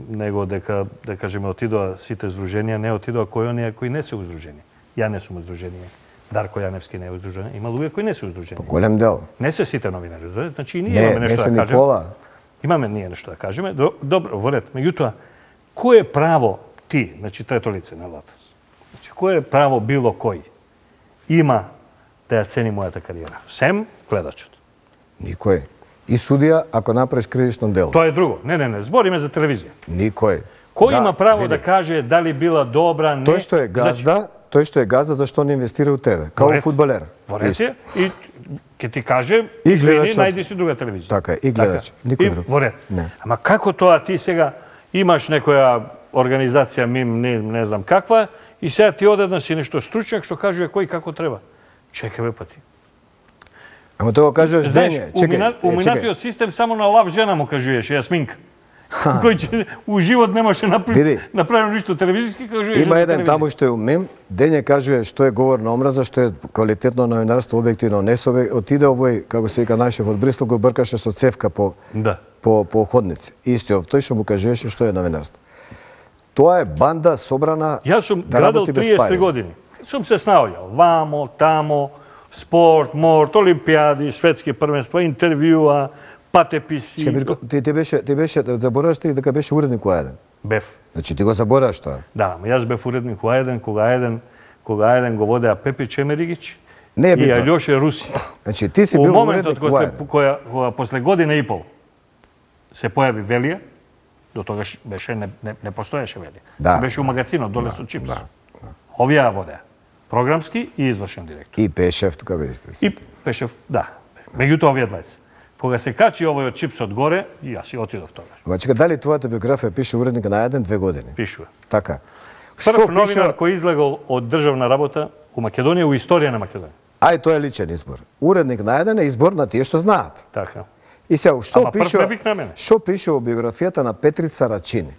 него дека, да кажеме, отидоа сите здруженија, не отидоа кои оние кои не се уздружени. Ја не сум уздружение. Дарко Јаневски не е уздружен. Има луѓе кои не се уздружени. По голем дел. Не се сите новинари. Значи и ние не, имаме нешто не да кажеме. Никола. Имаме ние нешто да кажеме. Добро, во ред. Меѓутоа, кој е право ти, значи трето лице на Латас? Значи кој е право било кој има да ја цени мојата кариера? Сем гледачот. Никој. И судија ако направиш кривично дело. Тоа е друго. Не, не, не, збориме за телевизија. Никој. Кој да, има право види. да каже дали била добра, не? Тој што е газда, значи, тој што е газда зашто не инвестира у тебе, као фудбалер. Во ред е, и ќе ти каже, и извини, гледачот. најди си друга телевизија. Така, и гледач. Никој друг. Во ред. Не. Ама како тоа ти сега имаш некоја организација мим, не, не знам каква, и сега ти одеднаш си нешто стручњак што кажува кој како треба. Чекај бе па ти. Ама тоа го кажуваш дење. Чекај. Уминатиот систем само на лав жена му кажуваше Јасминка. Кој че у живот не може направи направи ништо телевизиски, кажуваше. Има еден таму што е умем, дење кажува што е говор на омраза, што е квалитетно новинарство, објективно, не со отиде овој, како се вика нашиот од Брисел, го бркаше со цевка по да. по по ходници. Истиот тој што му кажуваше што е новинарство. Тоа е банда собрана. Јас сум да градел триесет три години. Сум се снаоѓал вамо, тамо, спорт, морт, олимпијади, светски првенства, интервјуа, патеписи. Чекай, ти ти беше ти беше забораваш ти дека беше уредник у еден. Бев. Значи ти го забораваш тоа. Да, ма јас бев уредник у еден, кога еден, кога еден го водеа Пепи Чемеригич не е и Алјоше Руси. Значи ти си бил уредник у еден. Која кога после година и пол се појави Велија, до тогаш беше не не, не постоеше Велија. Да, беше у магазинот доле со чипс. Да, да. Овие водеа. Програмски и извршен директор. И Пешев тука беше. И Пешев, да. Меѓутоа овие двајца. Кога се качи овој од чипсот горе, и јас и отидов тогаш. Ма чека, дали твојата биографија пише уредник на еден две години? Пишува. Така. Прв новинар кој излегол од државна работа у Македонија, у историја на Македонија. Ај, тоа е личен избор. Уредник на еден е избор на тие што знаат. Така. И сега, што Ама пише? прв не вик на мене. Што пише во биографијата на Петрица Рачини?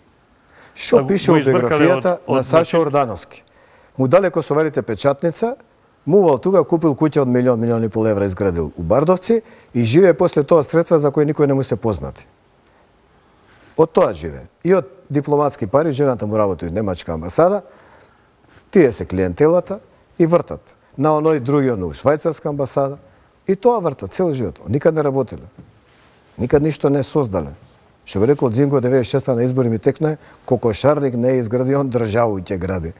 Што Го- пише го во избркале биографијата од- од на Саша Рачини. Ордановски? Му дале косоварите печатница, мувал тука, купил куќа од милион, милион и пол евра изградил у Бардовци и живее после тоа средства за кои никој не му се познати. Од тоа живее. И од дипломатски пари, жената му работи во немачка амбасада, тие се клиентелата и вртат. На оној другиот у швајцарска амбасада и тоа вртат цел живот. Никад не работеле. Никад ништо не создале. Што би рекол Дзинко деветдесет и шеста на избори ми текне, кокошарник не е изгради, он државу ќе гради.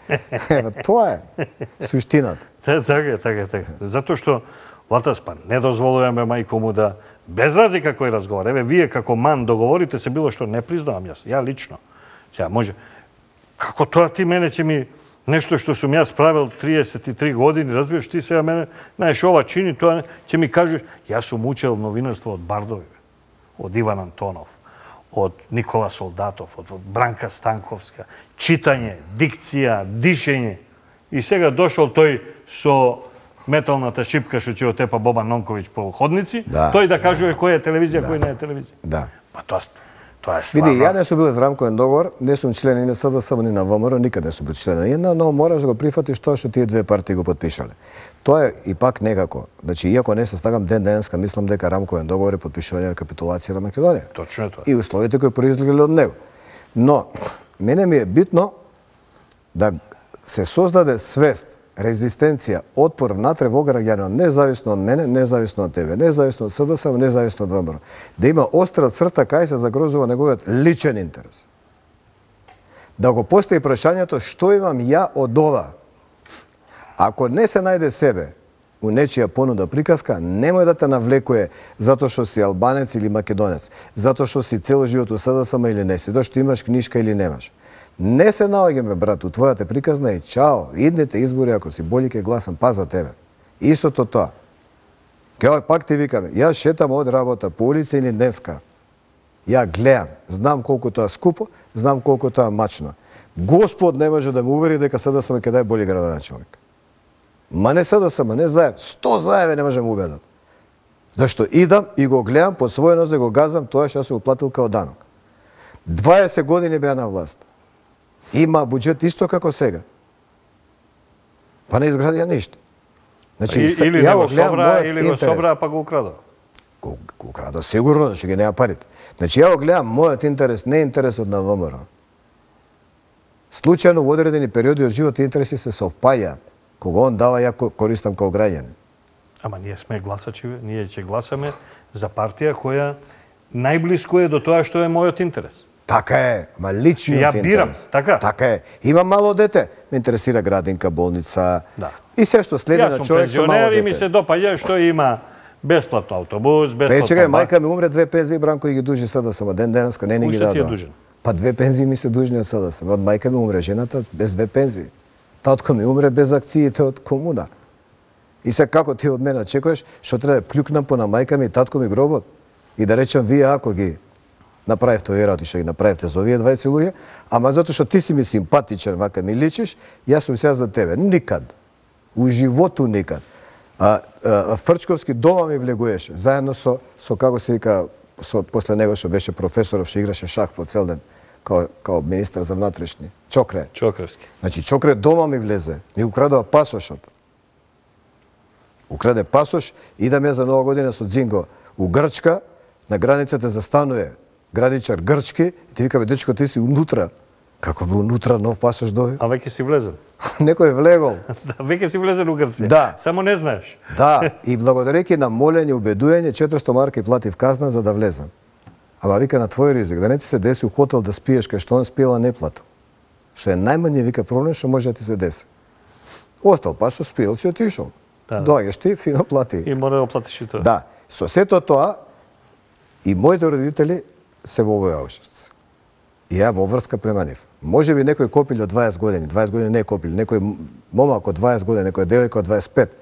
Ева, тоа е суштината. Така е, така е, така. Затоа што Латас па не дозволуваме мајко му да без разлика кој разговара. Еве вие како ман договорите се било што не признавам јас, ја лично. Сега може како тоа ти мене ќе ми нешто што сум јас правил триесет и три години, разбираш ти сега мене, знаеш ова чини, тоа ќе ми кажеш, јас сум учел новинарство од Бардови, од Иван Антонов, од Никола Солдатов, од Бранка Станковска, читање, дикција, дишење. И сега дошол тој со металната шипка што ќе отепа Бобан Нонковиќ по ходници, Да, тој да кажува која е телевизија, кој не е телевизија. Да. Па тоа Тоа е славно. Види, ја не сум бил за рамковен договор, не сум член ни на СДСМ, ни на ВМРО, никад не сум бил член на една, но мораш да го прифатиш тоа што тие две партии го потпишале. Тоа е и пак некако. Значи, иако не се стагам ден денеска, мислам дека рамковен договор е потпишување на капитулација на Македонија. Точно е тоа. И условите кои произлегле од него. Но, мене ми е битно да се создаде свест, резистенција, отпор внатре во граѓанот, независно од мене, независно од тебе, независно од СДСМ, независно од ВМРО. Да има остра црта кај се загрозува неговиот личен интерес. Да го постави прашањето што имам ја од ова. Ако не се најде себе у нечија понуда приказка, немој да те навлекуе затоа што си албанец или македонец, затоа што си цел живот у СДСМ или не си, зашто имаш книшка или немаш. Не се наоѓаме, брат, у твојата приказна и чао, идните избори, ако си боли ке гласам, па за тебе. Истото тоа. Ке пак ти викаме, јас шетам од работа по улица или днеска. Ја гледам, знам колку тоа скупо, знам колку тоа мачно. Господ не може да ме увери дека СДСМ ќе дај боли градоначалник. Ма не СДСМ, не заев, сто заеви не може да ме убедат. Зашто идам и го гледам, под своје нозе го газам тоа што се уплатил као данок. дваесет години беа на власт. Има буџет исто како сега. Па не изградија ништо. Значи, или не го собра, или го собра, па го украда. Го, го украда сигурно, зашто ги нема парите. Значи, ја го гледам мојот интерес, не интересот на ВМРО. Случајно во одредени периоди од живот интереси се совпаѓаат. Кога он дава, ја користам као граѓанин. Ама ние сме гласачи, ние ќе гласаме за партија која најблиско е до тоа што е мојот интерес. Така е, ма личниот интерес. Ја бирам, така? Така е. Имам мало дете, ме интересира градинка, болница. Да. И се што следи на човек со мало дете. Јас сум пензионер и ми се допаѓа што има бесплатно автобус, бесплатно. Пе, чекај, мајка ми умре, две пензии, Бранко и ги дужи СДСМ, ден денеска не ни ги дадоа. Уште ти е дужен? Па две пензии ми се дужни од СДСМ. Од мајка ми умре жената без две пензии. Татко ми умре без акциите од комуна. И се како ти од мене очекуваш, што треба да плюкнам по на мајка ми и татко ми гробот и да речам вие ако ги направивте овие работи што ги направивте за овие дваесет луѓе, ама затоа што ти си ми симпатичен, вака ми личиш, јас сум сега за тебе. Никад. У животу никад. А, а Фрчковски дома ми влегуеше, заедно со со како се вика со после него што беше професоров што играше шах по цел ден, као као министар за внатрешни. Чокре. Чокревски. Значи Чокре дома ми влезе, ми украдува пасошот. Украде пасош, идаме за Нова година со Дзинго у Грчка, на границата застанува градичар грчки и ти викаме, дечко, ти си унутра. Како би унутра нов пасош доби? А веќе си влезен. Некој влегол. Да, веќе си влезен у Грција. Да. Само не знаеш. Да, и благодарејќи на молење, убедување, четиристо марки платив казна за да влезам. Ама вика на твој ризик, да не ти се деси у хотел да спиеш кај што он спиела не платил. Што е најмање вика проблем што може да ти се деси. Остал пасош, спиел си отишол. Да. Доаѓаш ти, фино плати. И мора да платиш и тоа. Да. Со сето тоа и моите родители се во овој Аушвиц. И ја во врска према нив. Може би некој копил од дваесет години, дваесет години не копил, некој момак од дваесет години, некој девојка од дваесет пет,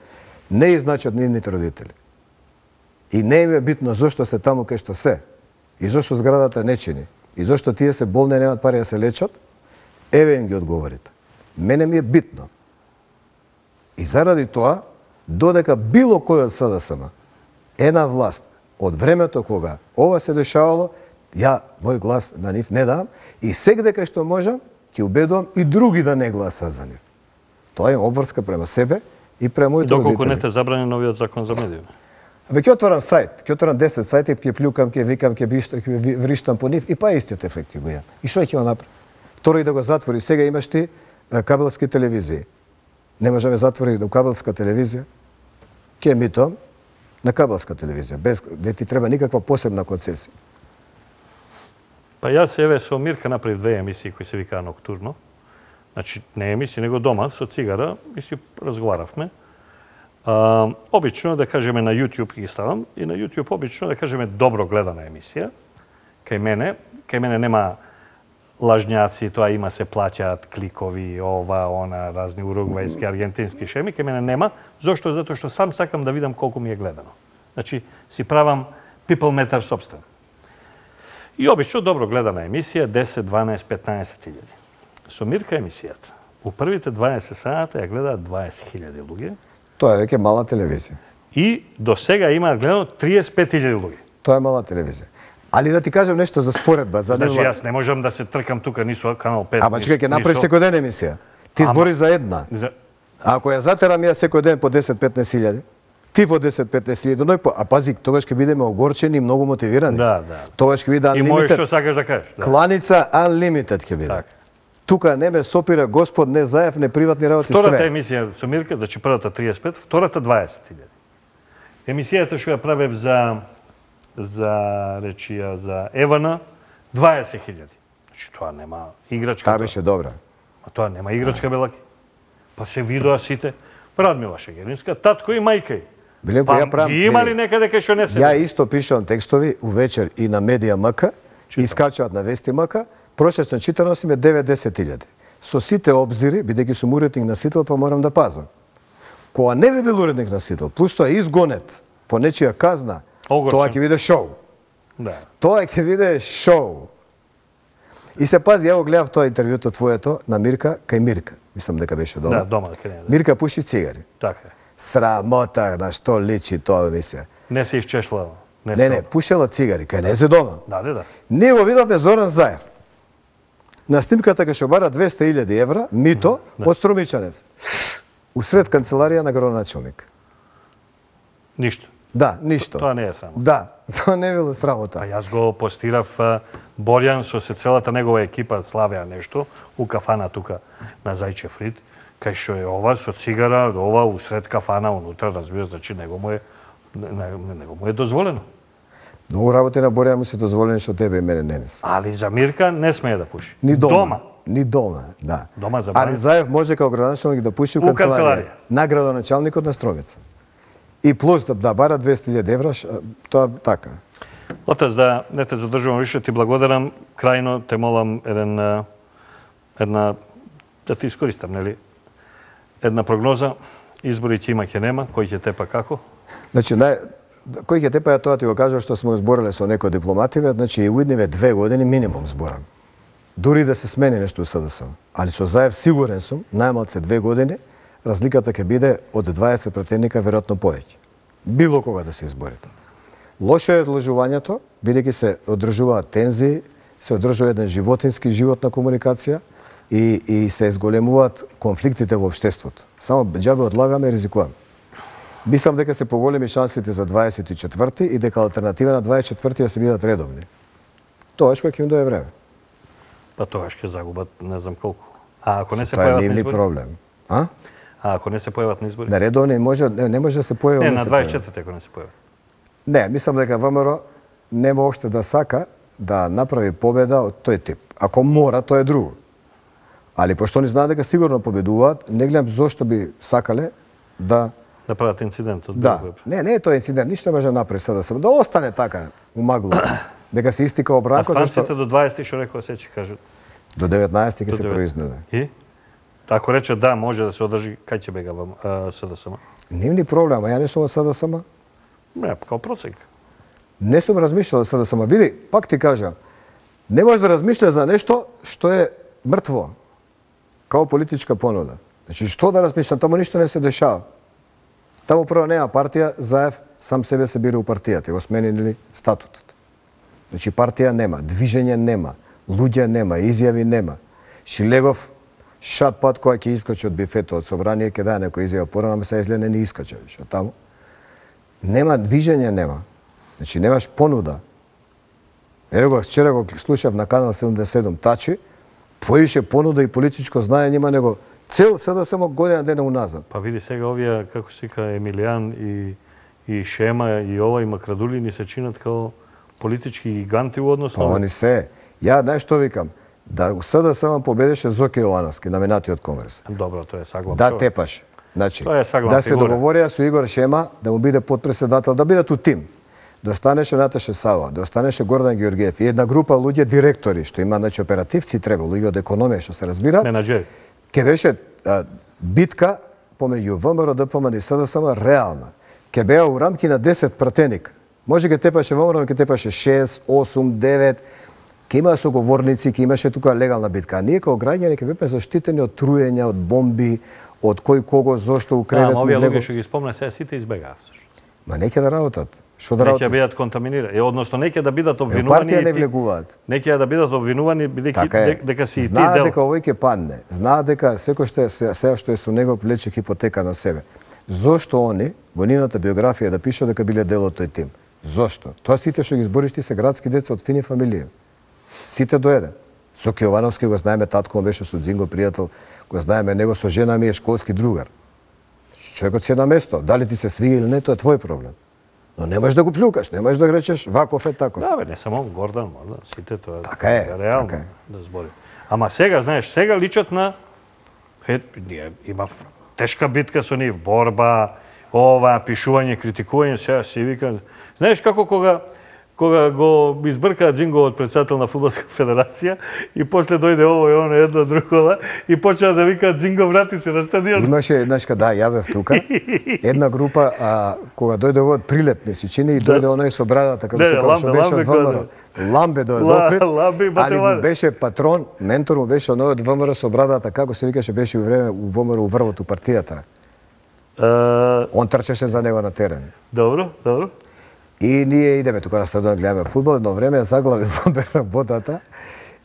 не изначат нивните родители. И не им е битно зошто се таму кај што се, и зошто зградата не чини, и зошто тие се болни и немаат пари да се лечат, еве им ги одговорите. Мене ми е битно. И заради тоа, додека било кој од СДСМ е на власт од времето кога ова се дешавало, ја мој глас на нив не дам и сегде кај што можам ќе убедувам и други да не гласат за нив. Тоа е обврска према себе и према моите родители. Доколку не те забрани новиот закон за медиуми. Абе ќе отворам сајт, ќе отворам десет сајти, ќе плюкам, ќе викам, ќе виштам, ќе вриштам по нив и па истиот ефект ќе го имам. И што ќе го направи? Второ и да го затвори. Сега имаш ти кабелски телевизии. Не може да ме затвори до кабелска телевизија. Ќе емитувам на кабелска телевизија, без да ти треба никаква посебна концесија. Па јас еве со Мирка направив две емисии кои се викаа Ноктурно. Значи не емисии, него дома со цигара и си разговаравме. А, обично да кажеме на YouTube ги ставам и на YouTube обично да кажеме добро гледана емисија. Кај мене, кај мене нема лажњаци, тоа има се плаќаат кликови, ова, она, разни уругвајски, аргентински шеми, кај мене нема. Зошто? Затоа што сам сакам да видам колку ми е гледано. Значи си правам people meter собствен. И обично добро гледана емисија, десет, дванаесет, петнаесет илјади. Со Мирка емисијата. У првите дваесет сата ја гледаат дваесет илјади луѓе. Тоа е веќе мала телевизија. И до сега имаат гледано триесет и пет илјади луѓе. Тоа е мала телевизија. Али да ти кажам нешто за споредба, за Значи невла- јас не можам да се тркам тука ни со Канал пет. Ама ни чекај, ќе ни направиш со- секој ден емисија. Ти Ама- збори за една. За... А ако ја затерам ја секој ден по десет-петнаесет илјади, ти по десет-петнаесет илјади, ној по... а пази, тогаш ќе бидеме огорчени и многу мотивирани. Да, да. Тогаш ќе биде И можеш што unlimited. сакаш да кажеш. Да. Кланица unlimited ќе биде. Така. Тука не ме сопира Господ, не Заев, не приватни работи, Втората све. емисија со Мирка, значи првата триесет и пет, втората дваесет илјади. Емисијата што ја правев за за речија за Евана дваесет илјади. Значи тоа нема играчка. Таа тоа. беше добра. А тоа нема играчка белаки. Па се видоа сите. Радмила Шегеринска, татко и мајка ѝ. Биленко, Па ја правам- ги има ли некаде кај што не се? Ја исто пишувам текстови увечер и на Медија МК, и скачаат на Вести МК, просечна читаност им е девет-десет илјади. Со сите обзири, бидејќи сум уредник на Сител, па морам да пазам. Кога не би бил уредник на Сител, плюс тоа изгонет по нечија казна, Огорчен. тоа ќе биде шоу. Да. Тоа ќе биде шоу. И се пази, ја го гледав тоа интервјуто твоето на Мирка, кај Мирка. Мислам дека беше дома. Да, дома кај не. Да. Мирка пуши цигари. Така е. Срамота на што личи тоа емисија. Не се исчешла. Не, Не, се- не, пушела цигари, кај не се дома. Да, да, да. Ние го видовме Зоран Заев. На снимката кај што бара двесте илјади евра, мито, од Струмичанец. Усред канцеларија на градоначелник. Ништо. Да, ништо. Тоа не е само. Да, тоа не било А срамота. јас го постирав а, Борјан со се целата негова екипа славеа нешто у кафана тука на Зајчев Рид, кај што е ова со цигара, ова усред кафана унутра, разбира, значи него му е не- не- него му е дозволено. Многу работи на Борја му се дозволени што тебе и мене не нес. Али за Мирка не смее да пуши. Ни дома. Дома. Ни дома, да. Дома за Али Борја. Заев може као градоначелник да пуши у У канцеларија. канцеларија. На градоначалникот на Стромица. И плюс да, да бара двесте илјади евра, ш- тоа така. Отец, да не те задржувам више, ти благодарам. Крајно те молам еден, а, една, да ти искористам, нели? Една прогноза. Избори ќе има, ќе нема, кој ќе тепа како? Значи, нај... кој ќе тепа, ја тоа ти го кажа што сме збореле со некои дипломативе, значи и уидниве две години минимум зборам. Дури да се смени нешто у СДС. Али со Заев сигурен сум, најмалце две години, разликата ќе биде од дваесет претендника веројатно повеќе. Било кога да се изборите. Лошо е одложувањето, бидејќи се одржуваат тензии, се одржува еден животински живот на комуникација и, и се изголемуваат конфликтите во општеството. Само џабе одлагаме и ризикуваме. Мислам дека се поголеми шансите за дваесет и четврти и дека алтернатива на дваесет и четврти да се бидат редовни. Тоаш кога ќе им дое време. Па тогаш ќе загубат не знам колку. А ако не се Тоа е појават на нивни избори? проблем. А? А ако не се појават на избори? На редовни може не, не може да се појави. Не, не на се дваесет и појави. четврти ако не се појават. Не, мислам дека ВМРО нема уште да сака да направи победа од тој тип. Ако мора, тоа е друго. Али пошто они знаат дека сигурно победуваат, не гледам зошто би сакале да Да прават инцидент од Да, Белград. не, не е тоа инцидент, ништо не може да направи сега да се да остане така у магло. Дека се истика А обранко станците зашто до дваесет што рекоа се ќе кажат. до деветнаесет ќе До се девет. произнеде. И? Ако рече да, може да се одржи, кај ќе бега вам СДСМ? Нивни проблема, ја не сум од СДСМ. Не, као проценк. Не сум размишljал за СДСМ. Види, пак ти кажам, не може да размишљаш за нешто што е мртво, као политичка понуда. Значи, што да размишлям, таму ништо не се дешава. Таму прво нема партија, Заев сам себе се бире у партијата, го сменили статутот. Значи, партија нема, движење нема, луѓе нема, изјави нема. Шилегов, шат пат која ќе искачи од бифето од собрание, ќе даде некој изјава порано, ама се изгледа не ни искача више таму. Нема движење, нема. Значи, немаш понуда. Ево го, вчера го слушав на канал седумдесет и седум Тачи, поише понуда и политичко знаење има него цел СДСМ година дена уназад. Па види сега овие, како се вика, Емилијан и, и Шема и ова и Макрадули ни се чинат као политички гиганти у однос Па на... они се. Ја, знаеш што викам? Да у СДСМ победеше Зоке Јовановски, номинатиот Конгрес. Добро, тоа е саглам. Да човек. тепаш. Значи, Тоа е саглам да се фигура. договорија со Игор Шема да му биде подпредседател, да бидат у тим. Да останеше Наташа Сава, да останеше Гордан Георгиев и една група луѓе директори, што има, значи, оперативци треба, луѓе од економија, што се разбира. Менаџери. Ке беше а, битка помеѓу ВМРО, ДПМН и СДСМ реална. Ке беа у рамки на десет пратеник. Може ке тепаше ВМРО, ке тепаше шест, осум, девет. Ке има соговорници, ке имаше тука легална битка. А ние као граѓани ке беме заштитени од труења, од бомби, од кој кого, зошто у Да, кревет. ама овие му влегол. луѓе што ги спомна сега сите избегаа всушност. Ма не ќе да работат. Што да Неќе работиш? бидат контаминирани, е, односно неќе да бидат Е, обвинувани. партија не и ти- влегуваат. Неќе да бидат обвинувани бидејќи Така е. дек- дека си и ти Знаат дел. дека овој ќе падне. Знаат дека секој што е се- сега што е со него влече хипотека на себе. Зошто они во нивната биографија да пишат дека биле дел од тој тим? Зошто? Тоа сите што ги избориш ти се градски деца од фини фамилија. Сите до еден. Со Кјовановски го знаеме, татко му беше со Дзинго пријател, го знаеме него, со жена ми е школски другар. Човекот си е на место. Дали ти се свија или не, тоа е твој проблем. Но не можеш да го плюкаш, не можеш да го речеш ваков е таков. Да, бе, не само Гордан, можда, сите тоа. Така е, реално така е. да зборим. Ама сега, знаеш, сега личат на е, ние има тешка битка со нив, борба, ова, пишување, критикување, сега си викам. Знаеш како кога кога го избркаа Дзинго од председател на Фудбалска федерација и после дојде ово и оно едно другова и почнаа да викаат Дзинго врати се на стадион. Имаше, значка, да, ја бев тука. Една група, а, кога дојде овој прилеп, ми се чини, и дојде оној со брадата, како Не, се не, каже, што Ламбе, беше Ламбе од ВМРО. Ламбе дојде Ла- допред, Ламбе и али му Батеван. беше патрон, ментор му беше оној од ВМРО со брадата, како се викаше, беше у време у ВМРО у врвот у партијата. Е, Он трчеше за него на терен. добро, добро. И ние идеме тука на стадион, гледаме фудбал, едно време ја заглави Ламбе работата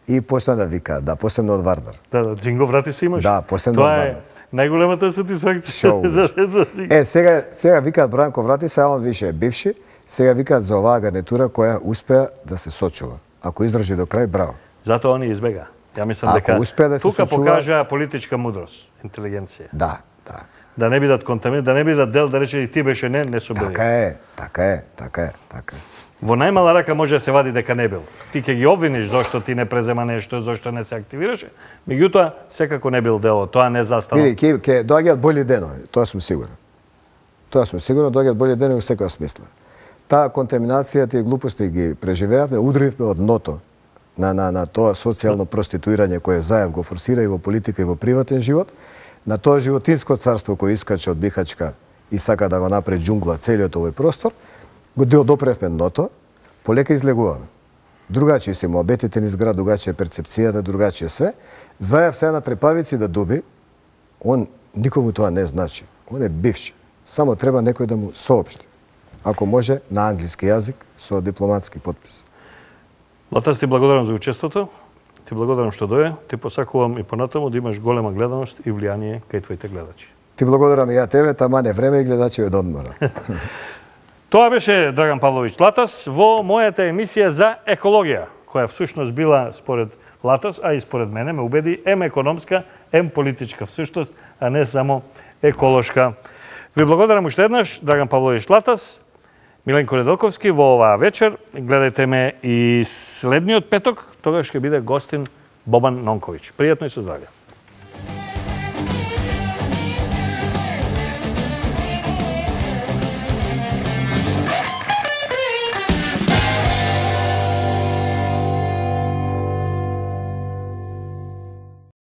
и почна да вика, да, посебно од Вардар. Да, да, Дзинго врати се имаш. Да, посебно Тоа од е Вардар. најголемата сатисфакција Шоу, за за Дзинго. Е, сега, сега викаат Бранко врати се, а он више е бивши, сега викаат за оваа гарнитура која успеа да се сочува. Ако издржи до крај, браво. Затоа они избега. Ја мислам Ако дека успеа да се тука сочува- покажаа политичка мудрост, интелигенција. Да, да. Да не бидат контаминирани, да не бидат дел да рече и ти беше не, не со били. Така е, така е, така е, така е. Во најмала рака може да се вади дека не бил. Ти ќе ги обвиниш зошто ти не презема нешто, зошто не се активираше, меѓутоа секако не бил дел од тоа, не застана. Види, ќе, ќе доаѓаат бољи денови, тоа сум сигурен. Тоа сум сигурен, доаѓаат бољи денови во секоја смисла. Таа контаминација, тие глупости ги преживеавме, удривме од дното на, на, на тоа социјално проституирање кое Заев го форсира и во политика и во приватен живот, на тоа животинско царство кој искаче од Бихачка и сака да го направи џунгла целиот овој простор, го допревме дното, полека излегуваме. Другачи се моабетите низ град, другачи е перцепцијата, другачи е све. Заев се на трепавици да дуби, он никому тоа не значи. Он е бивши. Само треба некој да му соопшти. Ако може, на англиски јазик, со дипломатски подпис. Латас, ти благодарам за учеството, ти благодарам што дојде, ти посакувам и понатаму да имаш голема гледаност и влијание кај твоите гледачи. Ти благодарам и ја тебе, тама не време и гледачи од одмора. Тоа беше Драган Павловиќ Латас во мојата емисија за екологија, која всушност била според Латас, а и според мене ме убеди ем економска, ем политичка всушност, а не само еколошка. Ви благодарам уште еднаш, Драган Павловиќ Латас, Миленко Недолковски во оваа вечер. Гледајте ме и следниот петок, тогаш ќе биде гостин Бобан Нонковиќ. Пријатно и со здравје.